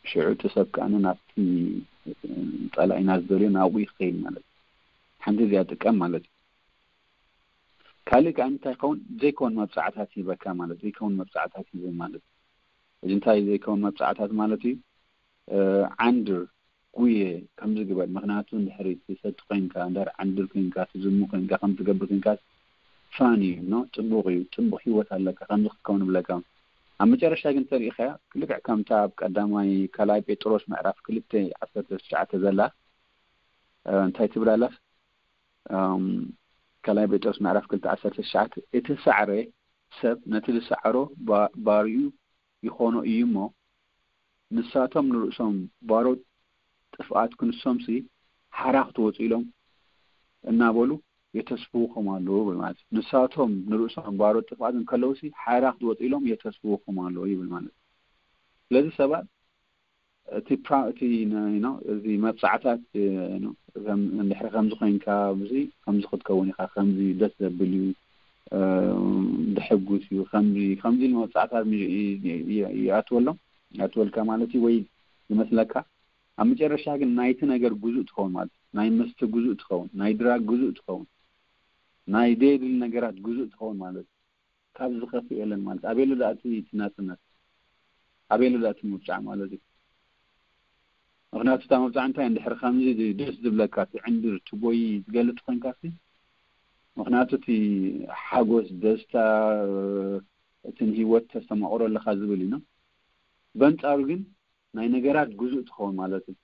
ሽዑ እቲ ሰብ ከኣኒ ናብቲ ጸላኢና ዝደልዮ ናብኡ ይኸይድ ማለት እዩ። ሓንቲ እዚኣ ጥቀም ማለት እዩ። ካልእ ከኣ እንታይ ይኸውን ዘይከውን መብጻዕታት ይህበካ ማለት ዘይከውን መብጻዕታት ይህብ ማለት እዩ። እዚ እንታይ ዘይከውን መብጻዕታት ማለት እዩ? ዓንድር ጉየ ከምዚ ግበር ምክንያቱ እንድሕሪ ትሰቲ ኮይንካ እንድሕር ዓንድር ኮይንካ ትዝሙ ኮይንካ ከም ትገብር ኮይንካ ፋን እዩ ኖ ጽቡቅ እዩ ጽቡቅ ህይወት ኣለካ ከምዚ ክትከውን ብለካ ኣብ መጨረሻ ግን ተሪኢኻያ ክልክዕ ከምታ ኣብ ቀዳማይ ካልኣይ ጴጥሮስ ምዕራፍ ክልተ ዓሰርተ ትሽዓተ ዘላ እንታይ ትብል ኣላስ ካልኣይ ጴጥሮስ ምዕራፍ ክልተ ዓሰርተ ትሽዓተ እቲ ሳዕረ ሰብ ነቲ ዝሰዓሮ ባርኡ ይኾኖ እዩ እሞ ንሳቶም ንርእሶም ባሮት ጥፍኣት ክንሶምሲ ሓራ ክትወፁ ኢሎም እናበሉ የተስፍውኹም ኣለዉ ይብል ማለት እዩ። ንሳቶም ንርእሶም ባሮት ጥፍኣት እንከለውሲ ሓራ ክትወፁ ኢሎም የተስፍውኹም ኣለዉ ይብል ማለት እዩ። ስለዚ ሰባት እቲ ፕራ እቲ ነ- ነ- እዚ መብፃዕታት እ፣ ነ- ከም- እንድሕሪ ከምዚ ኮይንካ እዚ ከምዚ ክትከውን ኢኻ ከምዚ ደስ ዘብል እዩ እ፣ ደሕጉስ እዩ ከምዚ ከምዚ ኢሉ መብፃዕታት ሚ- ይ- ይ- ይ- ይኣትወሎም ይኣትወልካ ማለት እዩ ወይ ይመስለካ ኣብ መጨረሻ ግን ናይቲ ነገር ጉዙእ ትኸውን ማለት እዩ። ናይ መስተ ጉዙእ ትኸውን ናይ ድራግ ጉዙእ ትኸውን ናይ ደየድሊ ነገራት ጉዙእ ትኸውን ማለት እዩ። ካብ ዝኸፍእ የለን ማለት ኣበየሉ ደኣ እቲ ናጽነት ኣበየሉ ደኣ እቲ ምብጻዕ ማለት እዩ። ምክንያቱ እታ መብጻዕ እንታይ እንድሕር ከምዚ ደስ ዝብለካ እቲ ዕንድር ትጎይ ዝገልጽ ኮንካ ሲ ምክንያቱ እቲ ሓጎስ ደስታ እቲ ንህይወት ተስተማቕሮ ኣለካ ዝብል እዩ። በንጻሩ ግን ናይ ነገራት ጉዙእ ትኸውን ማለት እዩ።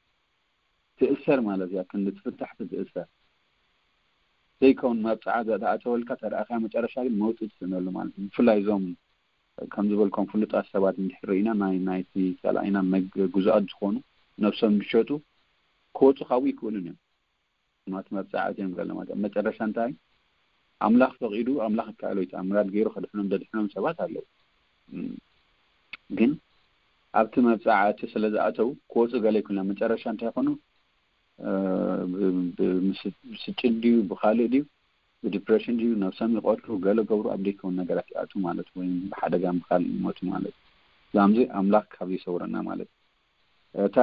ትእሰር ማለት እያ ክንዲ ትፍታሕ ትእሰር ዘይከውን መብፅዓ ዘተኣተወልካ ተረኣካ መጨረሻ ግን መውፅእ ትስእነሉ ማለት እዩ። ብፍላይ እዞም ከም ዝበልኮም ፍሉጣት ሰባት እንድሕር ርኢና ናይ ናይቲ ፀላኢና መግ- ግዙኣት ዝኾኑ ነብሶም ዝሸጡ ክወፁ ካብኡ ይክእሉን እዮም። ማት መብፅዓ እዚኦም ገለ ማለት ኣብ መጨረሻ እንታይ ኣምላኽ ፈቂዱ ኣምላኽ ይከኣሎ እዩ ተኣምራት ገይሩ ከድሕኖም ዘድሕኖም ሰባት ኣለዉ። እም፣ ግን ኣብቲ መብፅዓ እቲ ስለ ዝኣተው ክወፁ ገለ ይኩን መጨረሻ እንታይ ይኾኑ ብስጭት ድዩ ብካልእ ድዩ ብዲፕሬሽን ድዩ ነብሶም ይቆትሉ ገለ ገብሩ ኣብ ደይከውን ነገራት ይኣቱ ማለት ወይ ብሓደጋ ብካልእ ይሞቱ ማለት ዛምዚ ኣምላክ ካብ ይሰውረና ማለት እታ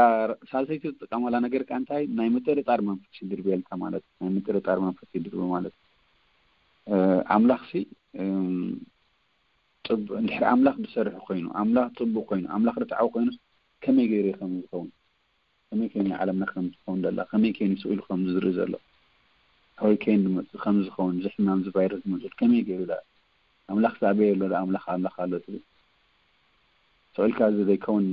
ሳልሰይቲ ዝጥቀመላ ነገር ከ እንታይ ናይ ምጥርጣር መንፈስ ይድርብየልካ ማለት ናይ ምጥርጣር መንፈስ ይድርብ ማለት ኣምላክ ሲ እንድሕር ኣምላክ ዝሰርሕ ኮይኑ ኣምላክ ፅቡቅ ኮይኑ ኣምላክ ርትዓዊ ኮይኑስ ከመይ ገይሩ ከም ዝኸውን ከመይ ከይኑ ዓለምና ከም ዝኸውን ዘላ ከመይ ከይኑ ስኢሉ ከም ዝርኢ ዘሎ ከመይ ከይኑ ዝመፅእ ከም ዝኸውን ዝሕማም ዝቫይረስ ዝመፅእ ከመይ ገይሩ ዳ ኣምላክ ሳዕበየ ኣሎ ዳ ኣምላክ ኣምላክ ኣሎ ትብል ስኢልካ እዚ ዘይከውን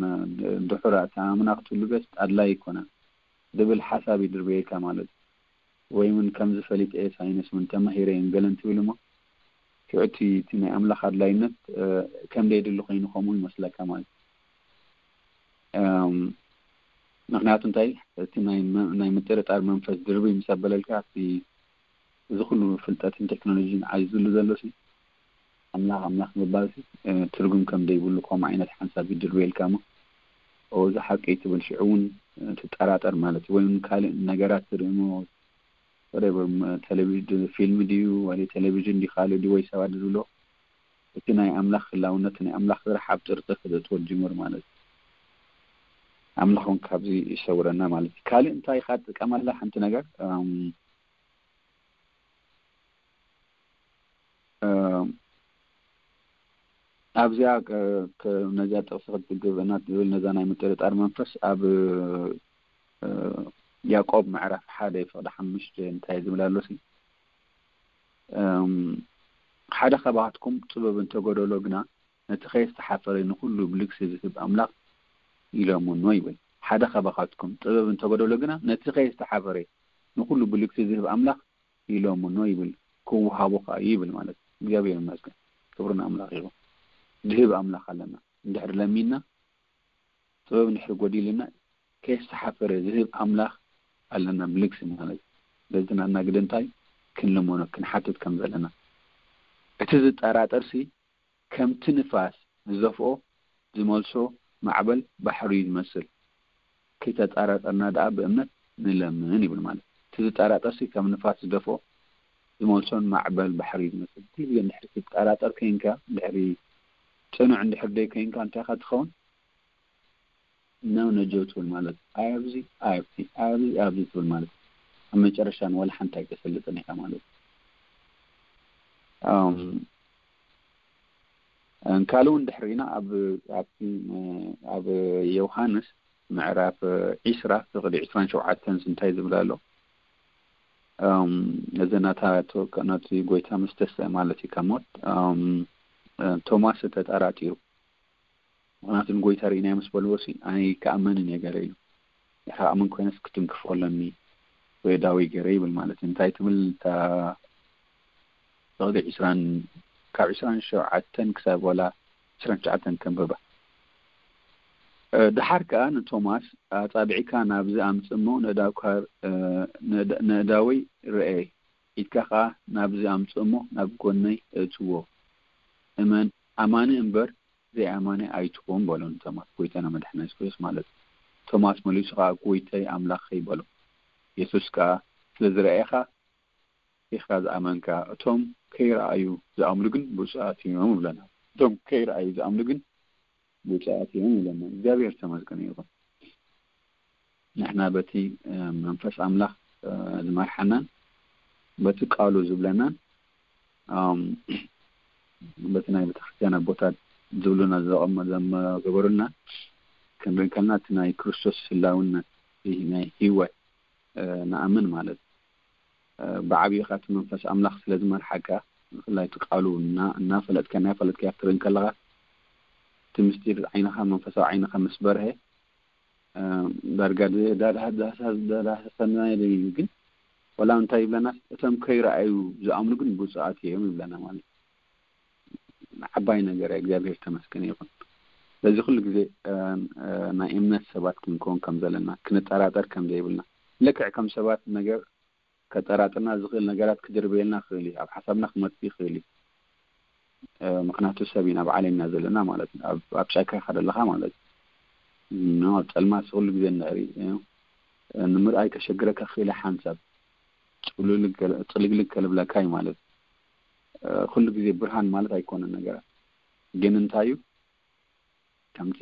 ድሑር ኣታ ኣምና ክትብሉ ገስ ኣድላይ ይኮነ ዝብል ሓሳብ ይድርበየካ ማለት እዩ ወይ እውን ከምዚ ፈሊጠ ሳይንስ እውን ተማሂረ እዮም ገለን ትብል እሞ ሽዑ እቲ ናይ ኣምላኽ ኣድላይነት ከም ደየድሊ ኮይኑ ከምኡ ይመስለካ ማለት እዩ። ምክንያቱ እንታይ እቲ ናይ ምጥርጣር መንፈስ ድርቢ ምስ ኣበለልካ እቲ እዚ ኩሉ ፍልጠትን ቴክኖሎጂን ዓዚዙሉ ዘሎ ሲ ኣምላኽ ኣምላኽ ምባል ሲ ትርጉም ከም ደይብሉ ከምኡ ዓይነት ሓንሳብ ይድርብየልካ እሞ እዚ ሓቂ ትብል ሽዑ እውን ትጠራጠር ማለት እዩ። ወይ ካልእ ነገራት ትርኢ እሞ ቴሌቪዥን ፊልም ድዩ ወይ ቴሌቪዥን ድዩ ካልእ ድዩ ወይ ሰባት ዝብሎ እቲ ናይ ኣምላኽ ህላውነት፣ ናይ ኣምላኽ ስራሕ ኣብ ጥርጥር ክተእትዎ ጅምር ማለት እዩ። ኣምላኽ እውን ካብዚ ይሰውረና ማለት እዩ። ካልእ እንታይ ኢኻ ትጥቀመላ ሓንቲ ነገር? እም፣ እም፣ ኣብዚኣ፣ እ፣ ክ-፣ ነዚኣ ጥቕሲ ክትግብእና ትብል ነዛ ናይ ምጥርጣር መንፈስ ኣብ፣ እ፣ ያዕቆብ ምዕራፍ ሓደ ፍቕዲ ሓሙሽተ እንታይ ዝብል ኣሎ ሲ? እም፣ ሓደ ካባኻትኩም ጥበብ እንተጎደሎ ግና ነቲ ከየስተሓፈረ ንኹሉ ብልግሲ ዝህብ ኣምላኽ ኢለምኖ ይብል። ሓደ ካባኻትኩም ጥበብ እንተጎደሎ ግና ነቲ ከየስተሓፈረ ንኹሉ ብልግሲ ዝህብ ኣምላኽ ኢለምኖ ይብል፣ ክወሃቦ ከኣ እዩ ይብል ማለት እዩ። እግዚኣብሔር ይመስገን። ክብሪ ንኣምላኽ ይኹን። ዝህብ ኣምላኽ ኣለና። እንድሕር ለሚንና፣ ጥበብ እንድሕር ጎዲልና፣ ከየስተሓፈረ ዝህብ ኣምላኽ ኣለና፣ ብልግሲ ማለት እዩ። በዚ ናትና ግደ እንታይ ክንልመኖ፣ ክንሓትት ከም ዘለና። እቲ ዝጠራጠርሲ ከምቲ ንፋስ ዝደፍኦ ዝመልሶ ማዕበል ባሕሪ እዩ ዝመስል። ከይተጠራጠርና ደኣ ብእምነት ንለምን ይብል ማለት። እቲ ዝጠራጠርሲ ከም ንፋስ ዝደፍኦ ዝመልሶን ማዕበል ባሕሪ እዩ ዝመስል። ኩሉ ግዜ እንድሕሪ ትጠራጠር ኮይንካ፣ እንድሕሪ ጽኑዕ እንድሕር ደይ ኮይንካ፣ እንታይ ኢኻ ትኸውን? ነው ነጀው ትብል ማለት። ኣይ ኣብዚ፣ ኣይ ኣብዚ፣ ኣይ ኣብዚ፣ ኣይ ኣብዚ ትብል ማለት። ኣብ መጨረሻ ንወላ ሓንቲ ኣይተሰልጥን ኢኻ ማለት። ኣም፣ ካልእ እውን ድሕሪና ኣብ፣ ኣብቲ፣ ኣብ ዮሃንስ ምዕራፍ ዒስራ ፍቕዲ ዒስራን ሸውዓተን እንታይ ዝብል ኣሎ? ኣም፣ እዚ ናታ፣ ነቲ ጎይታ ምስ ተስአ ማለት እዩ ካብ ሞት፣ ኣም፣ ቶማስ ተጠራጢሩ። ምኽንያቱ ንጎይታ ርኢናዮ ምስ በልዎ ሲ፣ ኣነ ኣይከኣመንን እየ ገለ ኢሉ። ንዓኻ ኣምን ኮይነስ ክትንክፎ ኣለኒ ወይ ዳዊ ገይረ ይብል ማለት እዩ። እንታይ ትብል እታ ፍቕዲ ዒስራን፣ ካብ ዒስራን ሸውዓተን ክሳብ ዋላ ዒስራን ትሽዓተን ከንብባ። እ፣ ደሓር ከኣ ንቶማስ፣ "ኣጻብዕካ ናብዚ ኣምጽእ እሞ ነዳውካ፣ እ፣ ነዳ-፣ ነዳወይ ርኤ፣ ኢድካ ከኣ ናብዚ ኣምጽእ እሞ ናብ ጎነይ እእትዎ። እመን፣ ኣማኒ እምበር ዘይኣማኒ ኣይትኹን" በሎ ንቶማስ፣ ጎይታና መድሓና የሱስ ክርስቶስ ማለት እዩ። ቶማስ መሊሱ ከኣ፣ "ጎይታይ ኣምላኸይ" በሎ። የሱስ ከኣ፣ "ስለ ዝረኣኻ ኢኻ ዝኣመንካ፣ እቶም ከይረኣዩ ዝኣምኑ ግን ብፁዓት እዮም" ይብለና። እቶም ከይረኣዩ ዝኣምኑ ግን ብፁዓት እዮም ይብለና። እግዚኣብሔር ተመስገን ይኹን። ንሕና በቲ፣ እ፣ መንፈስ ኣምላኽ፣ እ፣ ዝመርሓናን በቲ ቃሉ ዝብለናን፣ ኣም፣ በቲ ናይ ቤተክርስትያን ኣቦታት ዝብሉና ዘቐመ-፣ ዘመገበሩና ክንርኢ ከለና እቲ ናይ ክርስቶስ ህላውነት፣ እቲ ናይ ህይወት፣ እ፣ ንኣምን ማለት እዩ። እ፣ ብዓብዩ ኻቲ መንፈስ ኣምላኽ ስለ ዝመርሓካ፣ ብፍላይ እቲ ቃሉ እና-፣ እናፈለጥካ፣ እናፈለጥካ ክትርኢ ከለኻ፣ እቲ ምስጢር ዓይንኻ፣ መንፈሳዊ ዓይንኻ ምስ በርሀ፣ እ፣ ዳርጋ ድ-፣ ዳዳ-፣ ዳሳ-፣ ዳዳሰሰና ኢሉ እዩ። ግን ወላ እንታይ ይብለና? "እቶም ከይረኣዩ ዝኣምኑ ግን ብፁዓት እዮም" ይብለና ማለት እዩ። ዓባይ ነገር እያ። እግዚኣብሔር ተመስገን ይኹን። ስለዚ ኩሉ ግዜ፣ እ፣ እ፣ ናይ እምነት ሰባት ክንከውን ከም ዘለና፣ ክንጠራጠር ከም ዘይብልና፣ ልክዕ ከም ሰባት ነገር ከጠራጥርና ዝኽእል ነገራት ክድርበየልና ይኽእል እዩ። ኣብ ሓሳብና ክመጽእ ይኽእል እዩ። እ፣ ምኽንያቱ ሰብ ኢና፣ ኣብ ዓለም ኢና ዘለና ማለት እዩ። ኣብ፣ ኣብ ጫካ ኢኻ ዘለኻ ማለት እዩ። ኖ፣ ኣብ ጸልማት ኩሉ ግዜ እንድሕሪ፣ እ፣ ንምርኣይ ከሸግረካ ክኽእል እዩ። ሓንሳብ ጽሉልግ-፣ ጽልግልግ ከልብለካ እዩ ማለት እዩ። እ፣ ኩሉ ግዜ ብርሃን ማለት ኣይኮነን ነገራት። ግን እንታይ እዩ? ከምቲ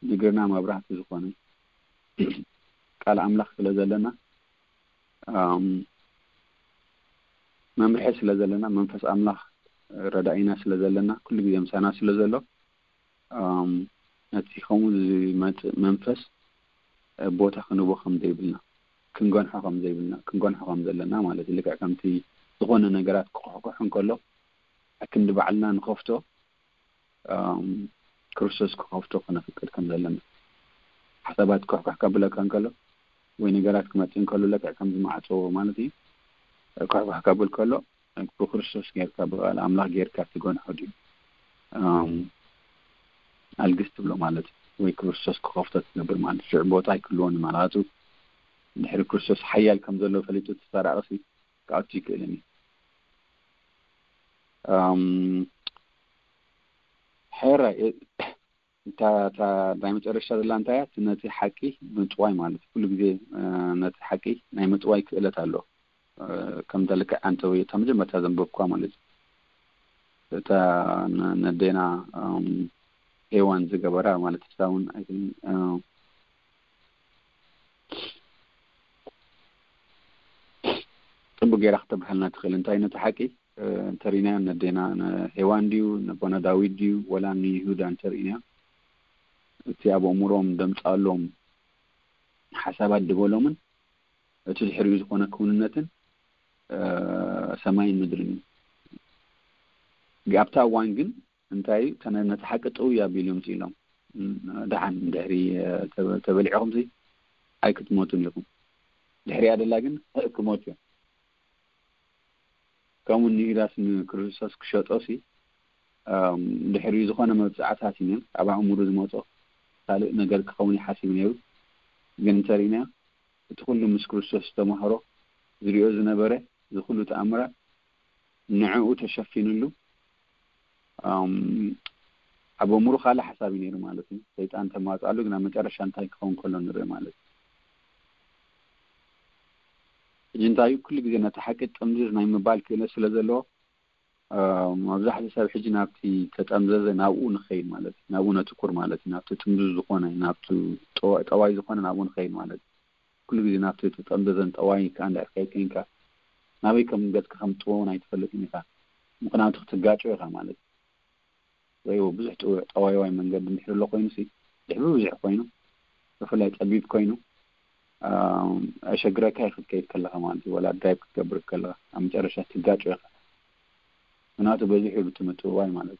ንእግርና መብራህቲ ዝኾነ ቃል ኣምላኽ ስለ ዘለና፣ ኣም፣ መምርሒ ስለ ዘለና፣ መንፈስ ኣምላኽ ረዳኢና ስለ ዘለና፣ ኩሉ ግዜ ምሳና ስለ ዘሎ፣ ኣም፣ ነቲ ከምኡ ዝመጽእ መንፈስ ቦታ ክንቦ ከም ዘይብልና፣ ክንገንሖ ከም ዘይብልና፣ ክንገንሖ ከም ዘለና ማለት እዩ። ልክዕ ከምቲ ዝኾነ ነገራት ክኩሕኩሕ እንከሎ፣ ኣክንዲ ባዕልና ንኸፍቶ፣ ኣም፣ ክርስቶስ ክኸፍቶ ከነፍቅድ ከም ዘለና። ሓሳባት ኩሕኩሕ ከብለካ እንከሎ፣ ወይ ነገራት ክመጽእ እንከሎ፣ ልክዕ ከምዚ ማዕጾ ማለት እዩ። ኩሕኩሕ ከብል ከሎ፣ ብክርስቶስ ጌርካ፣ ብቃል ኣምላኽ ጌርካ ትገንሖ ድዩ? ኣም፣ ኣልግስ ትብሎ ማለት እዩ። ወይ ክርስቶስ ክኸፍቶ ትገብር ማለት እዩ። ሽዑ ቦታ ኣይክህልዎን እዩ ማለት እዩ። ድሕሪ ክርስቶስ ሓያል ከም ዘሎ ፈሊጡ፣ እቲ ሰራቒ ሲ ክኣቱ ይክእልን እዩ። ኣም፣ ሕራይ፣ እ-፣ እታ፣ እታ ናይ መጨረሻ ዘላ እንታይ እያ? እቲ ነቲ ሓቂ ምጥዋይ ማለት እዩ። ኩሉ ግዜ፣ እ፣ ነቲ ሓቂ ናይ ምጥዋይ ክእለት ኣሎ። እ፣ ከም ልክዕ ኣንተ ወይ እታ መጀመርታ ዘንበብኳ ማለት እዩ። እታ ነዴና ሄዋን ዝገበራ ማለት እሳ እውን ፅቡቅ ገይራ ክተብርሃልና ትኽእል። እንታይ ነቲ ሓቂ እንተሪእናዮ ነዴና ሄዋን ድዩ ነቦና ዳዊት ድዩ ወላ ንይሁዳ እንተሪእናዮ እቲ ኣብ ኣእምሮም ደምፃሎም ሓሳባት ድበሎምን እቲ ድሕሪኡ ዝኾነ ክውንነትን ሰማይን ምድርን እዩ። ኣብታ እዋን ግን እንታይ እዩ ነቲ ሓቂ ጥውይ ኣቢሎም ኢሎም ደሓን ድሕሪ ተበሊዕኹም ኣይክትሞቱን ኢኹም። ድሕሪያ ደላ ግን ክሞቱ እዮም። ከምኡ ንይሁዳስ ንክርስቶስ ክሸጦ ሲ ድሕሪ ዝኾነ መብፅዓታት እዩ ኣብ ኣእምሩ ዝመፆ ካልእ ነገር ክኸውን ይሓስብ ነይሩ። ግን እንተሪእናዮ እቲ ኩሉ ምስ ክርስቶስ ዝተማህሮ ዝሪኦ ዝነበረ እዚ ኩሉ ተኣምራት ንዕኡ ተሸፊንሉ ኣብ ኣእምሩ ካልእ ሓሳብ እዩ ነይሩ ማለት እዩ። ሰይጣን ተማፃሉ ግን ኣብ መጨረሻ እንታይ ክኸውን ከሎ ንርኢ ማለት እዩ። ሕጂ እንታይ ኩሉ ግዜ ነቲ ሓቂ ጥምዝዝ ናይ ምባል ክእለት ስለ ዘለዎ መብዛሕትኡ ሰብ ሕጂ ናብቲ ተጠምዘዘ ናብኡ ንኸይድ ማለት እዩ። ናብኡ ነትኩር ማለት እዩ። ናብቲ ጥምዙዝ ዝኾነ ናብቲ ጠዋይ ዝኾነ ናብኡ ንኸይድ ማለት እዩ። ኩሉ ግዜ ናብቲ ተጠምዘዘን ጠዋይ ከዓ እንዳ ከይድ ኮይንካ ናበይ ከም ገጽካ ከም ጥወውን ኣይትፈልጥን ኢኻ። ምክንያቱ ክትጋጮ ኢኻ ማለት እዩ። ወይ ብዙሕ ጠዋይዋይ መንገዲ እንድሕር ኣሎ ኮይኑ ሲ ድሕሪ ብዙሕ ኮይኑ ብፍላይ ጸቢብ ኮይኑ ኣሸግረካ ይኽእል ከይድ ከለኻ ማለት እዩ። ወላ ድራይቭ ክትገብር ከለኻ ኣብ መጨረሻ ትጋጮ ኢኻ። ምክንያቱ በዚሑ እዩ እቲ ምጥውዋይ ማለት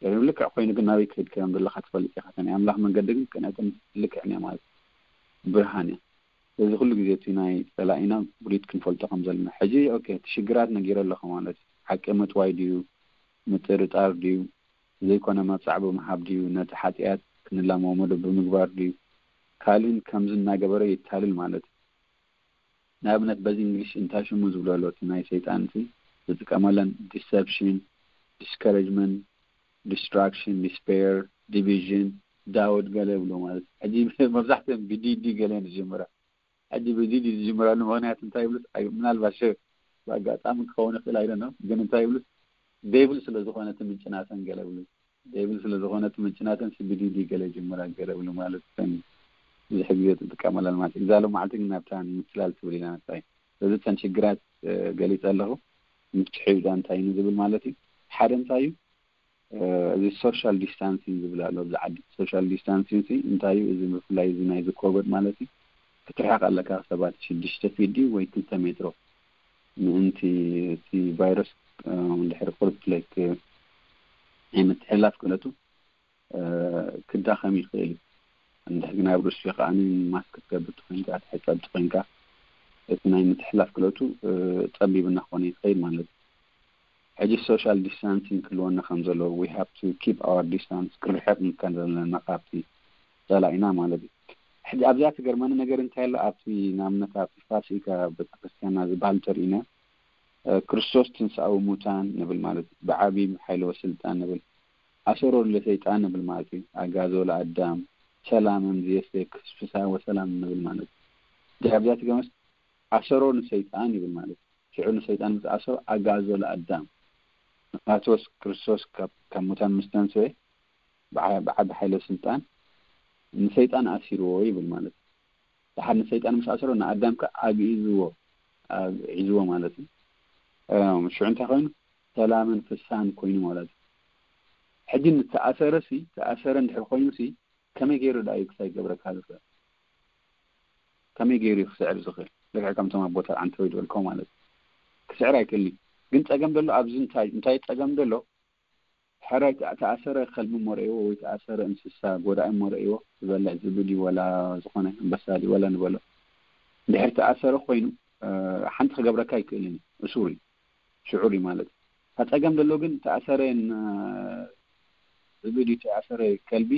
እዩ። ልክዕ ኮይኑ ግን ናበይ ክኸይድ ከም ዘለኻ ትፈልጥ ኢኻ። ናይ ኣምላኽ መንገዲ ግን ቅንዕትን ልክዕን እያ ማለት እዩ። ብርሃን እያ። ስለዚ ኩሉ ግዜ እቲ ናይ ጸላኢና ብሉይት ክንፈልጦ ከም ዘለና ሕጂ ኦኬ እቲ ሽግራት ነጊረ ኣለኹ ማለት እዩ። ሓቂ ምጥዋይ ድዩ ምጥርጣር ድዩ ዘይኮነ መብጻዕ ብምሃብ ድዩ ነቲ ሓጢኣት ክንላመሞ ዶ ብምግባር ድዩ ካልእን ከምዚ እናገበረ የታልል ማለት እዩ። ንኣብነት በዚ እንግሊሽ እንታይ ሽሙ ዝብሎ ኣሎ እቲ ናይ ሰይጣን እቲ ዝጥቀመለን deception፣ discouragement፣ distraction፣ despair፣ division፣ doubt ገለ ይብሎ ማለት እዩ። ሕጂ መብዛሕትኦም ብዲዲ ገለ ዝጀምራ ሕጂ ብዲዲ ዝጅምራሉ ምክንያት እንታይ ይብሉስ ምናልባት ሸ ብኣጋጣሚ ክኸውን ይኽእል ኣይደኖ ግን እንታይ ይብሉስ ዴብል ስለ ዝኾነ እቲ ምንጭ ናተን ገለ ብሉ ዴብል ስለ ዝኾነ እቲ ምንጭ ናተን ብዲዲ ገለ ይጅምራ ገለ ብሉ ማለት ከን ብዙሕ ግዜ ትጥቀመለን ማለት እዛ ሎም መዓልቲ ግን ናብታ ንምትላል ትብል ኢና ነታይ ስለዚ እተን ሽግራት ገሊፀ ኣለኹ ምፍትሒ ዳ እንታይ እዩ ዝብል ማለት እዩ ሓደ እንታይ እዩ እዚ social distancing ዝብል ኣሎ ኣብዚ ዓዲ social distancing ሲ እንታይ እዩ እዚ ብፍላይ እዚ ናይዚ ኮቨድ ማለት እዩ ክትርሕቕ ኣለካ ሰባት ሽዱሽተ ፊት ድዩ ወይ ክልተ ሜትሮ ምእንቲ እቲ ቫይረስ እንድሕር ቁርብ ላይክ ናይ ምትሕልላፍ ክእለቱ ክዳኸም ይኽእል እዩ እንድሕር ግን ኣብ ሩስያ ከዓ ማስክ ክትገብር ትኮይንካ ትሕፀብ ትኮይንካ እቲ ናይ ምትሕላፍ ክእለቱ ፀቢብ እናኾነ ይኸይድ ማለት እዩ ሕጂ social distancing ክህልወና ከም ዘለዎ we have to keep our distance ክርሕቕ ከም ዘለና ካብቲ ፀላኢና ማለት እዩ ሕጂ ኣብዚኣ ትገርመኒ ነገር እንታይ ኣሎ ኣብቲ ንኣብነት ኣብቲ ፋሲካ ቤተክርስትያንና ዝበሃል እንተሪኢና ክርስቶስ ትንሳኤዊ ሙታን ንብል ማለት እዩ ብዓብይ ሓይለወ ስልጣን ንብል ኣሰሮ ለሰይጣን ንብል ማለት እዩ ኣጋዞ ለኣዳም ሰላም እምዝየስክ ፍስሃ ወሰላም ንብል ማለት እዩ ኣብዚኣ ትገርመስ ኣሰሮ ንሰይጣን ይብል ማለት እዩ ሽዑ ንሰይጣን ምስ ኣሰሮ ኣጋዞ ለኣዳም ምክንያቱ ክርስቶስ ካብ ሙታን ምስ ተንስኤ ብዓቢ ሓይለ ስልጣን ንሰይጣን ኣሲርዎ ይብል ማለት እዩ። ድሓር ንሰይጣን ምስ ኣሰሮ ንኣዳም ከ ኣግዒዝዎ ኣግዒዝዎ ማለት እዩ። ሽዑ እንታይ ኮይኑ ሰላምን ፍሳን ኮይኑ ማለት እዩ። ሕጂ ንተኣሰረ ሲ ተኣሰረ እንድሕር ኮይኑ ሲ ከመይ ገይሩ ዳ እዩ ክሳይ ገብረካ ዝኽእል? ከመይ ገይሩ እዩ ክስዕር ዝኽእል? ልክዕ ከምቶም ኣቦታት ዓንተወይ ዝበልኮ ማለት እዩ። ክስዕር ኣይክእልን እዩ። ግን ጸገም ዘሎ ኣብዚ እንታይ እንታይ ጸገም ዘሎ ሕራይ ተኣሰረ ከልቢ እሞ ረእይዎ ወይ ተኣሰረ እንስሳ ጎዳኢ እሞ ረእይዎ ዝበልዕ ዝብኢ ድዩ ወላ ዝኾነ ኣንበሳ ድዩ ወላ ንበሎ እንድሕር ተኣሰረ ኮይኑ ሓንቲ ክገብረካ ኣይክእልን እዩ እሱር እዩ ሽዑር እዩ ማለት እዩ ጸገም ዘሎ ግን ተኣሰረ ዝብኢ ድዩ ተኣሰረ ከልቢ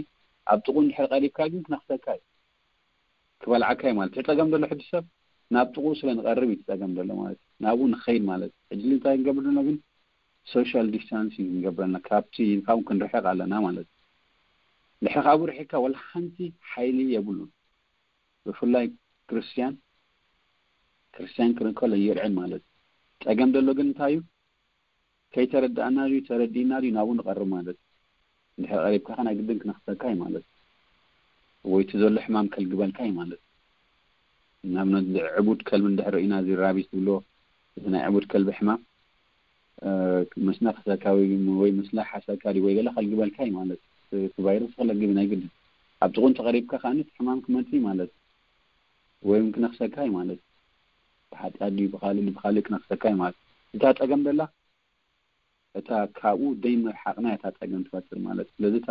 ኣብ ጥቁ እንድሕር ቀሪብካ ግን ክነኽሰካ እዩ ክበልዓካ እዩ ማለት እቲ ጸገም ዘሎ ሕጂ ሰብ ናብ ጥቕኡ ስለ ንቐርብ እዩ ጸገም ዘሎ ማለት ናብኡ ንኸይድ ማለት ሕጂ እንታይ ንገብር ዘለና ግን social distancing ንገብረልና ካብቲ ካብኡ ክንርሕቕ ኣለና ማለት ድሕሪ ካብኡ ርሒቕካ ወላ ሓንቲ ሓይሊ የብሉን ብፍላይ ክርስትያን ክርስትያን ክርከሎ የርዕን ማለት ጸገም ዘሎ ግን እንታይ እዩ ከይተረዳእና ድዩ ተረዲእና ድዩ ናብኡ ንቐርብ ማለት እዩ። እንድሕር ቀሪብካ ከ ናይ ግድን ክነኽሰካ እዩ ማለት እዩ። ወይ እቲ ዘሎ ሕማም ከልግበልካ እዩ ማለት እዩ። ንኣብነት ዕቡድ ከልቢ እንድሕር ርኢና፣ እዚ ራቢስ ዝብሎ፣ እዚ ናይ ዕቡድ ከልቢ ሕማም ምስ ነኽሰካ ወይ ምስ ለሓሰካ ድዩ ወይ ገለ ከልግበልካ እዩ ማለት እዩ። እቲ ቫይረስ ክለግብ ናይ ግድን። ኣብ ጥቕኡ እንተቐሪብካ ከኣ እቲ ሕማም ክመጽእ እዩ ማለት እዩ። ወይ ክነኽሰካ እዩ ማለት እዩ። ብሓጢኣት ድዩ ብኻልእ ብኻልእ ክነኽሰካ እዩ ማለት እዩ። እታ ጸገም ደላ እታ ካብኡ ደይ ምርሓቕና እታ ጸገም ትፈጥር ማለት እዩ። ስለዚ እታ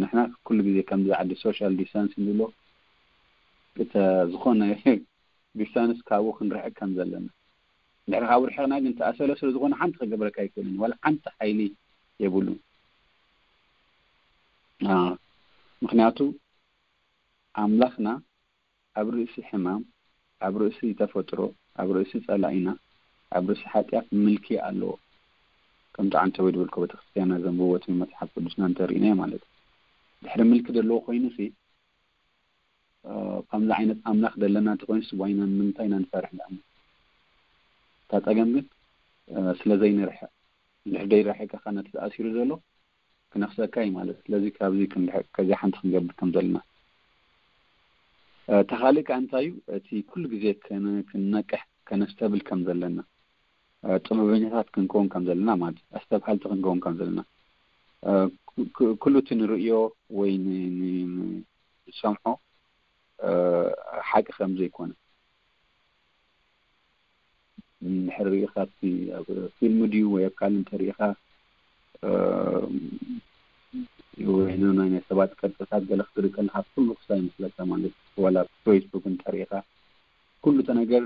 ንሕና ኩሉ ግዜ ከምዚ ዓዲ ሶሻል ዲስታንስ ንብሎ፣ እተ ዝኾነ ዲስታንስ ካብኡ ክንርሕቅ ከም ዘለና። እንድሕር ካብኡ ርሕቕና ግን ተኣሰለ ስለ ዝኾነ ሓንቲ ክገብረካ ኣይክእልን፣ ዋላ ሓንቲ ሓይሊ የብሉን። ምክንያቱ ኣምላኽና ኣብ ርእሲ ሕማም፣ ኣብ ርእሲ ተፈጥሮ፣ ኣብ ርእሲ ጸላኢና፣ ኣብ ርእሲ ሓጢኣት ምልኪ ኣለዎ። ከምቲ ዓንተወይ ዝበልኮ ቤተክርስትያና ዘንብቦ እቲ መጽሓፍ ቅዱስና እንተርኢናዮ ማለት እዩ። ድሕሪ ምልኪ ዘለዎ ኮይኑ ሲ ከምዚ ዓይነት ኣምላኽ ዘለና እንተኮይኑ ስዋይና ንምንታይ ኢና ንፈርሕ? ንኣምን እታ ጸገም ግን ስለ ዘይንርሕቕ፣ እንድሕር ደይራሒቅካ ነቲ ተኣሲሩ ዘሎ ክነኽሰካ እዩ ማለት። ስለዚ ካብዚ ክንርሕቅ ከዚኣ ሓንቲ ክንገብር ከም ዘለና። እታ ካልእ ከኣ እንታይ እዩ? እቲ ኩሉ ግዜ ክንነቅሕ ከነስተብል ከም ዘለና፣ ጥበበኛታት ክንከውን ከም ዘለና ማለት እዩ። ኣስተብሃልቲ ክንከውን ከም ዘለና፣ ኩሉ እቲ ንርእዮ ወይ ንሰምዖ ሓቂ ከም ዘይኮነ እንድሕር ርኢኻ፣ ኣብቲ ኣብ ፊልም ድዩ ወይ ኣብ ካልእ እንተርኢኻ፣ ወይ ናይ ሰባት ቅርጽታት ገለ ክትርኢ ከለኻ ኩሉ ክሳይ ይመስለካ ማለት እዩ። ዋላ ኣብ ፌስቡክ እንተርኢኻ ኩሉ እቲ ነገር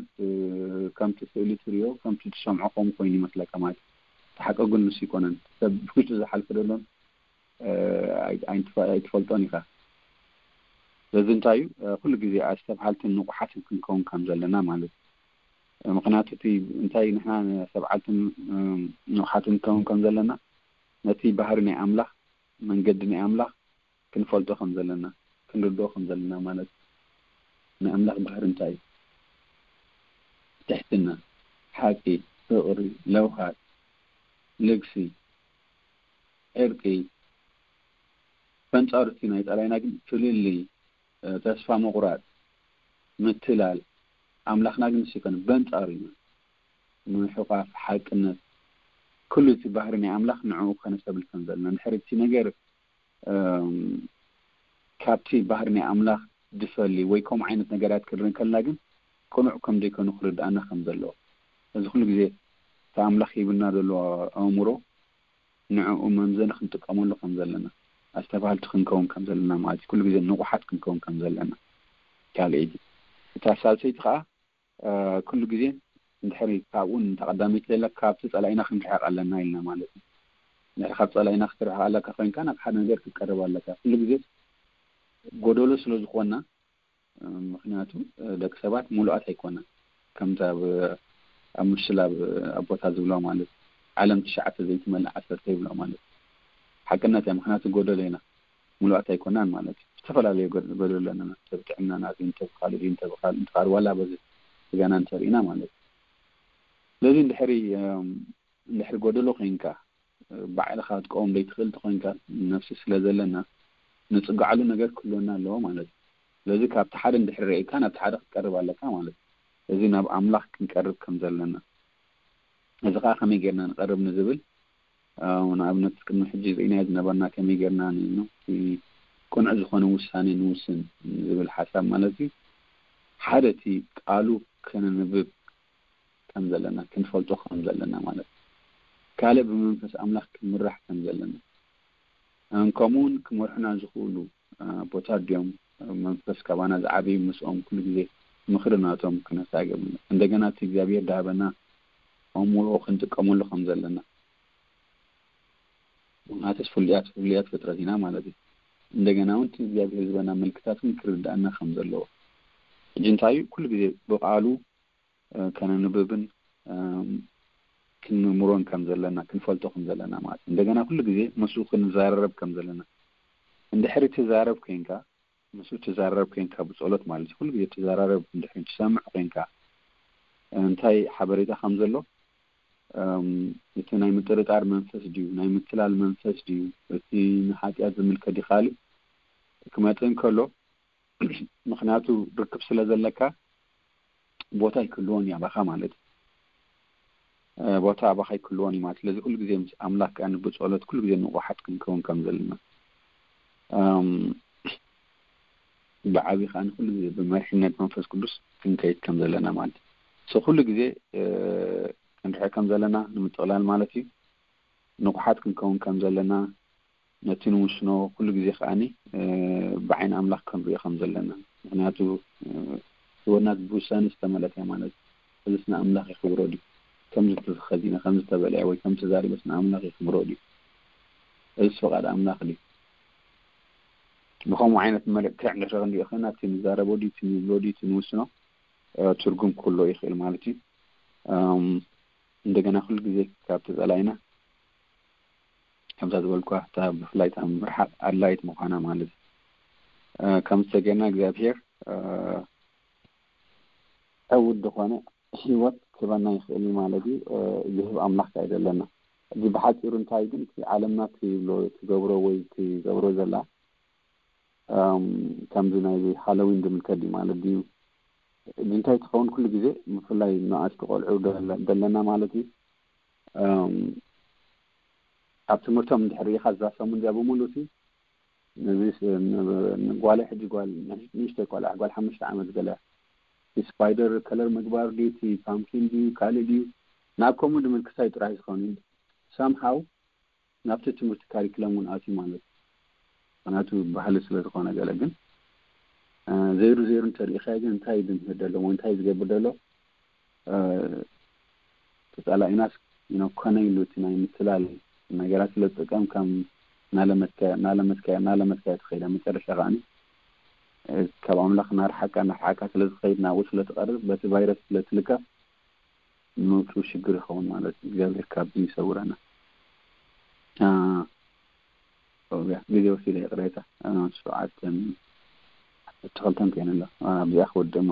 ከምቲ ስእሊ ትርእዮ፣ ከምቲ ትሰምዖ ከምኡ ኮይኑ ይመስለካ ማለት እዩ። እቲ ሓቂ ግን ንሱ ይኮነን። ሰብ ብውሽጡ ዝሓልፈ ዘሎን ኣይትፈልጦን ኢኻ። ስለዚ እንታይ እዩ፣ ኩሉ ግዜ ኣስተብሃልትን ንቑሓትን ክንከውን ከም ዘለና ማለት እዩ። ምክንያቱ እቲ እንታይ ንሕና ኣስተብሃልትን ንቑሓትን ክንከውን ከም ዘለና ነቲ ባህሪ ናይ ኣምላኽ፣ መንገዲ ናይ ኣምላኽ ክንፈልጦ ከም ዘለና፣ ክንርድኦ ከም ዘለና ማለት እዩ። ናይ ኣምላኽ ባህሪ እንታይ እዩ? ትሕትና፣ ሓቂ፣ ፍቕሪ፣ ለውሃት፣ ልግሲ፣ ዕርቂ፣ በንጻሩ እቲ ናይ ጸላኢና ግን ፍልልይ፣ ተስፋ ምቑራጽ፣ ምትላል፣ ኣምላኽና ግን ንሱ ኣይኮነን፣ በንጻሩ ኢና። ምሕቋፍ፣ ሓቅነት፣ ኩሉ እቲ ባህሪ ናይ ኣምላኽ ንዕኡ ከነስተብል ከም ዘለና። እንድሕር እቲ ነገር ካብቲ ባህሪ ናይ ኣምላኽ ዝፈሊ ወይ ከምኡ ዓይነት ነገራት ክንርኢ ከለና ግን ቅኑዕ ከም ዘይኮኑ ክርድኣና ከም ዘለዎ። እዚ ኩሉ ግዜ እቲ ኣምላኽ ሂብና ዘሎ ኣእምሮ ንዕኡ መምዘኒ ክንጥቀመሉ ከም ዘለና፣ ኣስተብሃልቲ ክንከውን ከም ዘለና ማለት እዩ። ኩሉ ግዜ ንቑሓት ክንከውን ከም ዘለና። ካልኣይቲ እታ ሳልሰይቲ ከዓ ኩሉ ግዜ እንድሕሪ ካብኡ ንተቐዳመይቲ ዘላ ካብቲ ጸላኢና ክንርሕቕ ኣለና ኢልና ማለት እዩ። እንድሕሪ ካብ ጸላኢና ክትርሕቕ ኣለካ ኮይንካ ናብ ሓደ ነገር ክትቀርብ ኣለካ። ኩሉ ግዜ ጎደሎ ስለ ዝኾና፣ ምክንያቱ ደቂ ሰባት ሙሉኣት ኣይኮና። ከምታ ኣብ ኣብ ምስላ ኣቦታት ዝብሎ ማለት ዓለም ትሽዓተ ዘይትመልእ ዓሰርተ ይብሎ ማለት ሓቅነት እያ። ምክንያቱ ጎደሎ ኢና፣ ሙሉኣት ኣይኮናን ማለት እዩ። ዝተፈላለዩ ጎደሎ ኣለና። ሰብ ጥዕናና እንተ ብካሉ እንተ ብካሉ እንተ ዋላ በዚ ስጋና እንተርኢና ማለት እዩ። ስለዚ እንድሕሪ እንድሕሪ ጎደሎ ኮይንካ ባዕልኻ ክትቀውም ዘይትኽእል ተኾይንካ ነፍሲ ስለ ዘለና ንጽግዓሉ ነገር ክህልወና ኣለዎ ማለት እዩ። ስለዚ ካብቲ ሓደ እንድሕሪ ርኢካ ናብቲ ሓደ ክትቀርብ ኣለካ ማለት እዩ። እዚ ናብ ኣምላኽ ክንቀርብ ከም ዘለና፣ እዚ ኸዓ ከመይ ጌርና ንቐርብ ንዝብል ንኣብነት ቅድሚ ሕጂ ርኢናዮ ዝነበርና ከመይ ጌርና ቅኑዕ ዝኾነ ውሳኔ ንውስን ዝብል ሓሳብ ማለት እዩ። ሓደ እቲ ቃሉ ከነንብብ ከም ዘለና ክንፈልጦ ከም ዘለና ማለት እዩ። ካልእ ብመንፈስ ኣምላኽ ክንምራሕ ከም ዘለና ከምኡ እውን ክመርሑና ዝኽእሉ ኣቦታት ድዮም መንፈስ ካባና ዝዓበዩ ምስኦም ኩሉ ግዜ ምኽሪ ናቶም ክነሳገም እንደገና እቲ እግዚኣብሔር ዳሃበና ኣእምሮ ክንጥቀመሉ ከም ዘለና ምክንያቱስ ፍሉያት ፍሉያት ፍጥረት ኢና ማለት እዩ። እንደገና እውን እቲ እግዚኣብሔር ዝበና ምልክታት እውን ክርድኣና ከም ዘለዎ ሕጂ እንታይ እዩ ኩሉ ግዜ ብቃሉ ከነንብብን ክንምርምሮን ከም ዘለና ክንፈልጦ ከም ዘለና ማለት እዩ። እንደገና ኩሉ ግዜ ምስኡ ክንዘራረብ ከም ዘለና እንድሕሪ ትዛረብ ኮይንካ ምስኡ ትዛረብ ኮይንካ ብጸሎት ማለት እዩ ኩሉ ግዜ ትዘራረብ እንድሕሪ ትሰምዕ ኮይንካ እንታይ ሓበሬታ ከም ዘሎ እቲ ናይ ምጥርጣር መንፈስ ድዩ፣ ናይ ምትላል መንፈስ ድዩ፣ እቲ ንሓጢኣት ዝምልከት ድዩ ካልእ ክመጽእ እንከሎ፣ ምኽንያቱ ርክብ ስለ ዘለካ ቦታ ኣይክልዎን እዩ ኣባኻ ማለት እዩ። ቦታ ኣባኻ ኣይክልዎን እዩ ማለት። ስለዚ ኩሉ ግዜ ምስ ኣምላኽ ከኣ ብጸሎት ኩሉ ግዜ ንቑሓት ክንከውን ከም ዘለና፣ ብዓቢ ከኣ ኩሉ ግዜ ብመሪሕነት መንፈስ ቅዱስ ክንከይድ ከም ዘለና ማለት እዩ። ኩሉ ግዜ ክንርሕቕ ከም ዘለና ንምጥቕላል ማለት እዩ። ንቑሓት ክንከውን ከም ዘለና፣ ነቲ ንውስኖ ኩሉ ግዜ ከኣ ብዓይኒ ኣምላኽ ክንሪኦ ከም ዘለና። ምኽንያቱ ህይወትና ብውሳኔ ዝተመልአት እያ ማለት እዩ። እዚስ ንኣምላኽ የኽብሮ ድዩ? ከምዚ ተኸዲነ፣ ከምዚ ተበሊዐ ወይ ከምዚ ተዛሪበስ ንኣምላኽ የኽብሮ ድዩ? እዚስ ፍቓድ ኣምላኽ ድዩ? ብኸምኡ ዓይነት መልክዕ እንድሕር ክንሪኦ ኮይና፣ እቲ ንዛረቦ ድዩ፣ እቲ ንብሎ ድዩ፣ እቲ ንውስኖ ትርጉም ክህልዎ ይኽእል ማለት እዩ። እንደገና ኩሉ ግዜ ካብ ተጸላኢና፣ ከምዛ ዝበልኳ፣ እታ ብፍላይ እታ ምርሓቕ ኣድላይት ምዃና ማለት እዩ። ከም ዝተገና እግዚኣብሔር ዕውት ዝኾነ ህይወት ክህበና ይኽእል እዩ ማለት እዩ። ዝህብ ኣምላኽ ከኣ ኣይደለና። እዚ ብሓጺሩ እንታይ ግን እቲ ዓለምና ትብሎ ትገብሮ ወይ ትገብሮ ዘላ፣ ከምዚ ናይ ሃሎዊን ዝምልከት ድዩ ማለት ድዩ? እዚ እንታይ ትኸውን ኩሉ ግዜ ብፍላይ ንኣሽቱ ቆልዑ ደለ-፣ ደለና ማለት እዩ። ኣብ ትምህርቶም እንድሕር ርኢኻ እዛ ሰሙን እዚኣ ብምሉእ እቲ ነዚ ስ-፣ ን-፣ ንጓለይ ሕጂ ጓል ንእሽ-፣ ንእሽተይ ቆልዓ ጓል ሓሙሽተ ዓመት ገለ እቲ ስፓይደር ከለር ምግባር ድዩ፣ እቲ ፓምኪን ድዩ፣ ካልእ ድዩ፣ ናብ ከምኡ ድምልክት እዩ ጥራይ ዝኸውን። ሳምሃው ናብቲ ትምህርቲ ካሪክለም እውን ኣትዩ ማለት እዩ። ምኽንያቱ ባህሊ ስለ ዝኾነ ገለ ግን፣ እ፣ ዘይሩ ዘይሩ እንተሪኢኻዮ ግን እንታይ እዩ ዝምህር ዘሎ ወይ እንታይ እዩ ዝገብር ዘሎ? እ፣ ተጻላኢናስ፣ you know፣ ኮነ ኢሉ እቲ ናይ ምትላል ነገራት ስለ ዝጥቀም ከም እናለመድካዮ፣ እናለመድካዮ፣ እናለመድካዮ ትኸይድ። ኣብ መጨረሻ ከኣ፣ እ፣ ካብ ኣምላኽ እናርሓቅካ፣ እናርሓቅካ ስለ ዝኸይድ ናብኡ ስለ ትቐርብ በቲ ቫይረስ ስለ ትልከፍ ምውጽኡ ሽግር ይኸውን ማለት እዩ። እግዚኣብሔር ካብዚ ይሰውረና። አ፣ ኦያ፣ ግዜ ወሲደ ይቕሬታ። አ፣ ሸውዓተን፣ ዓሰርተ ክልተን ኮይነ ኣሎ። አ፣ ኣብዚኣ ክወድእ እሞ።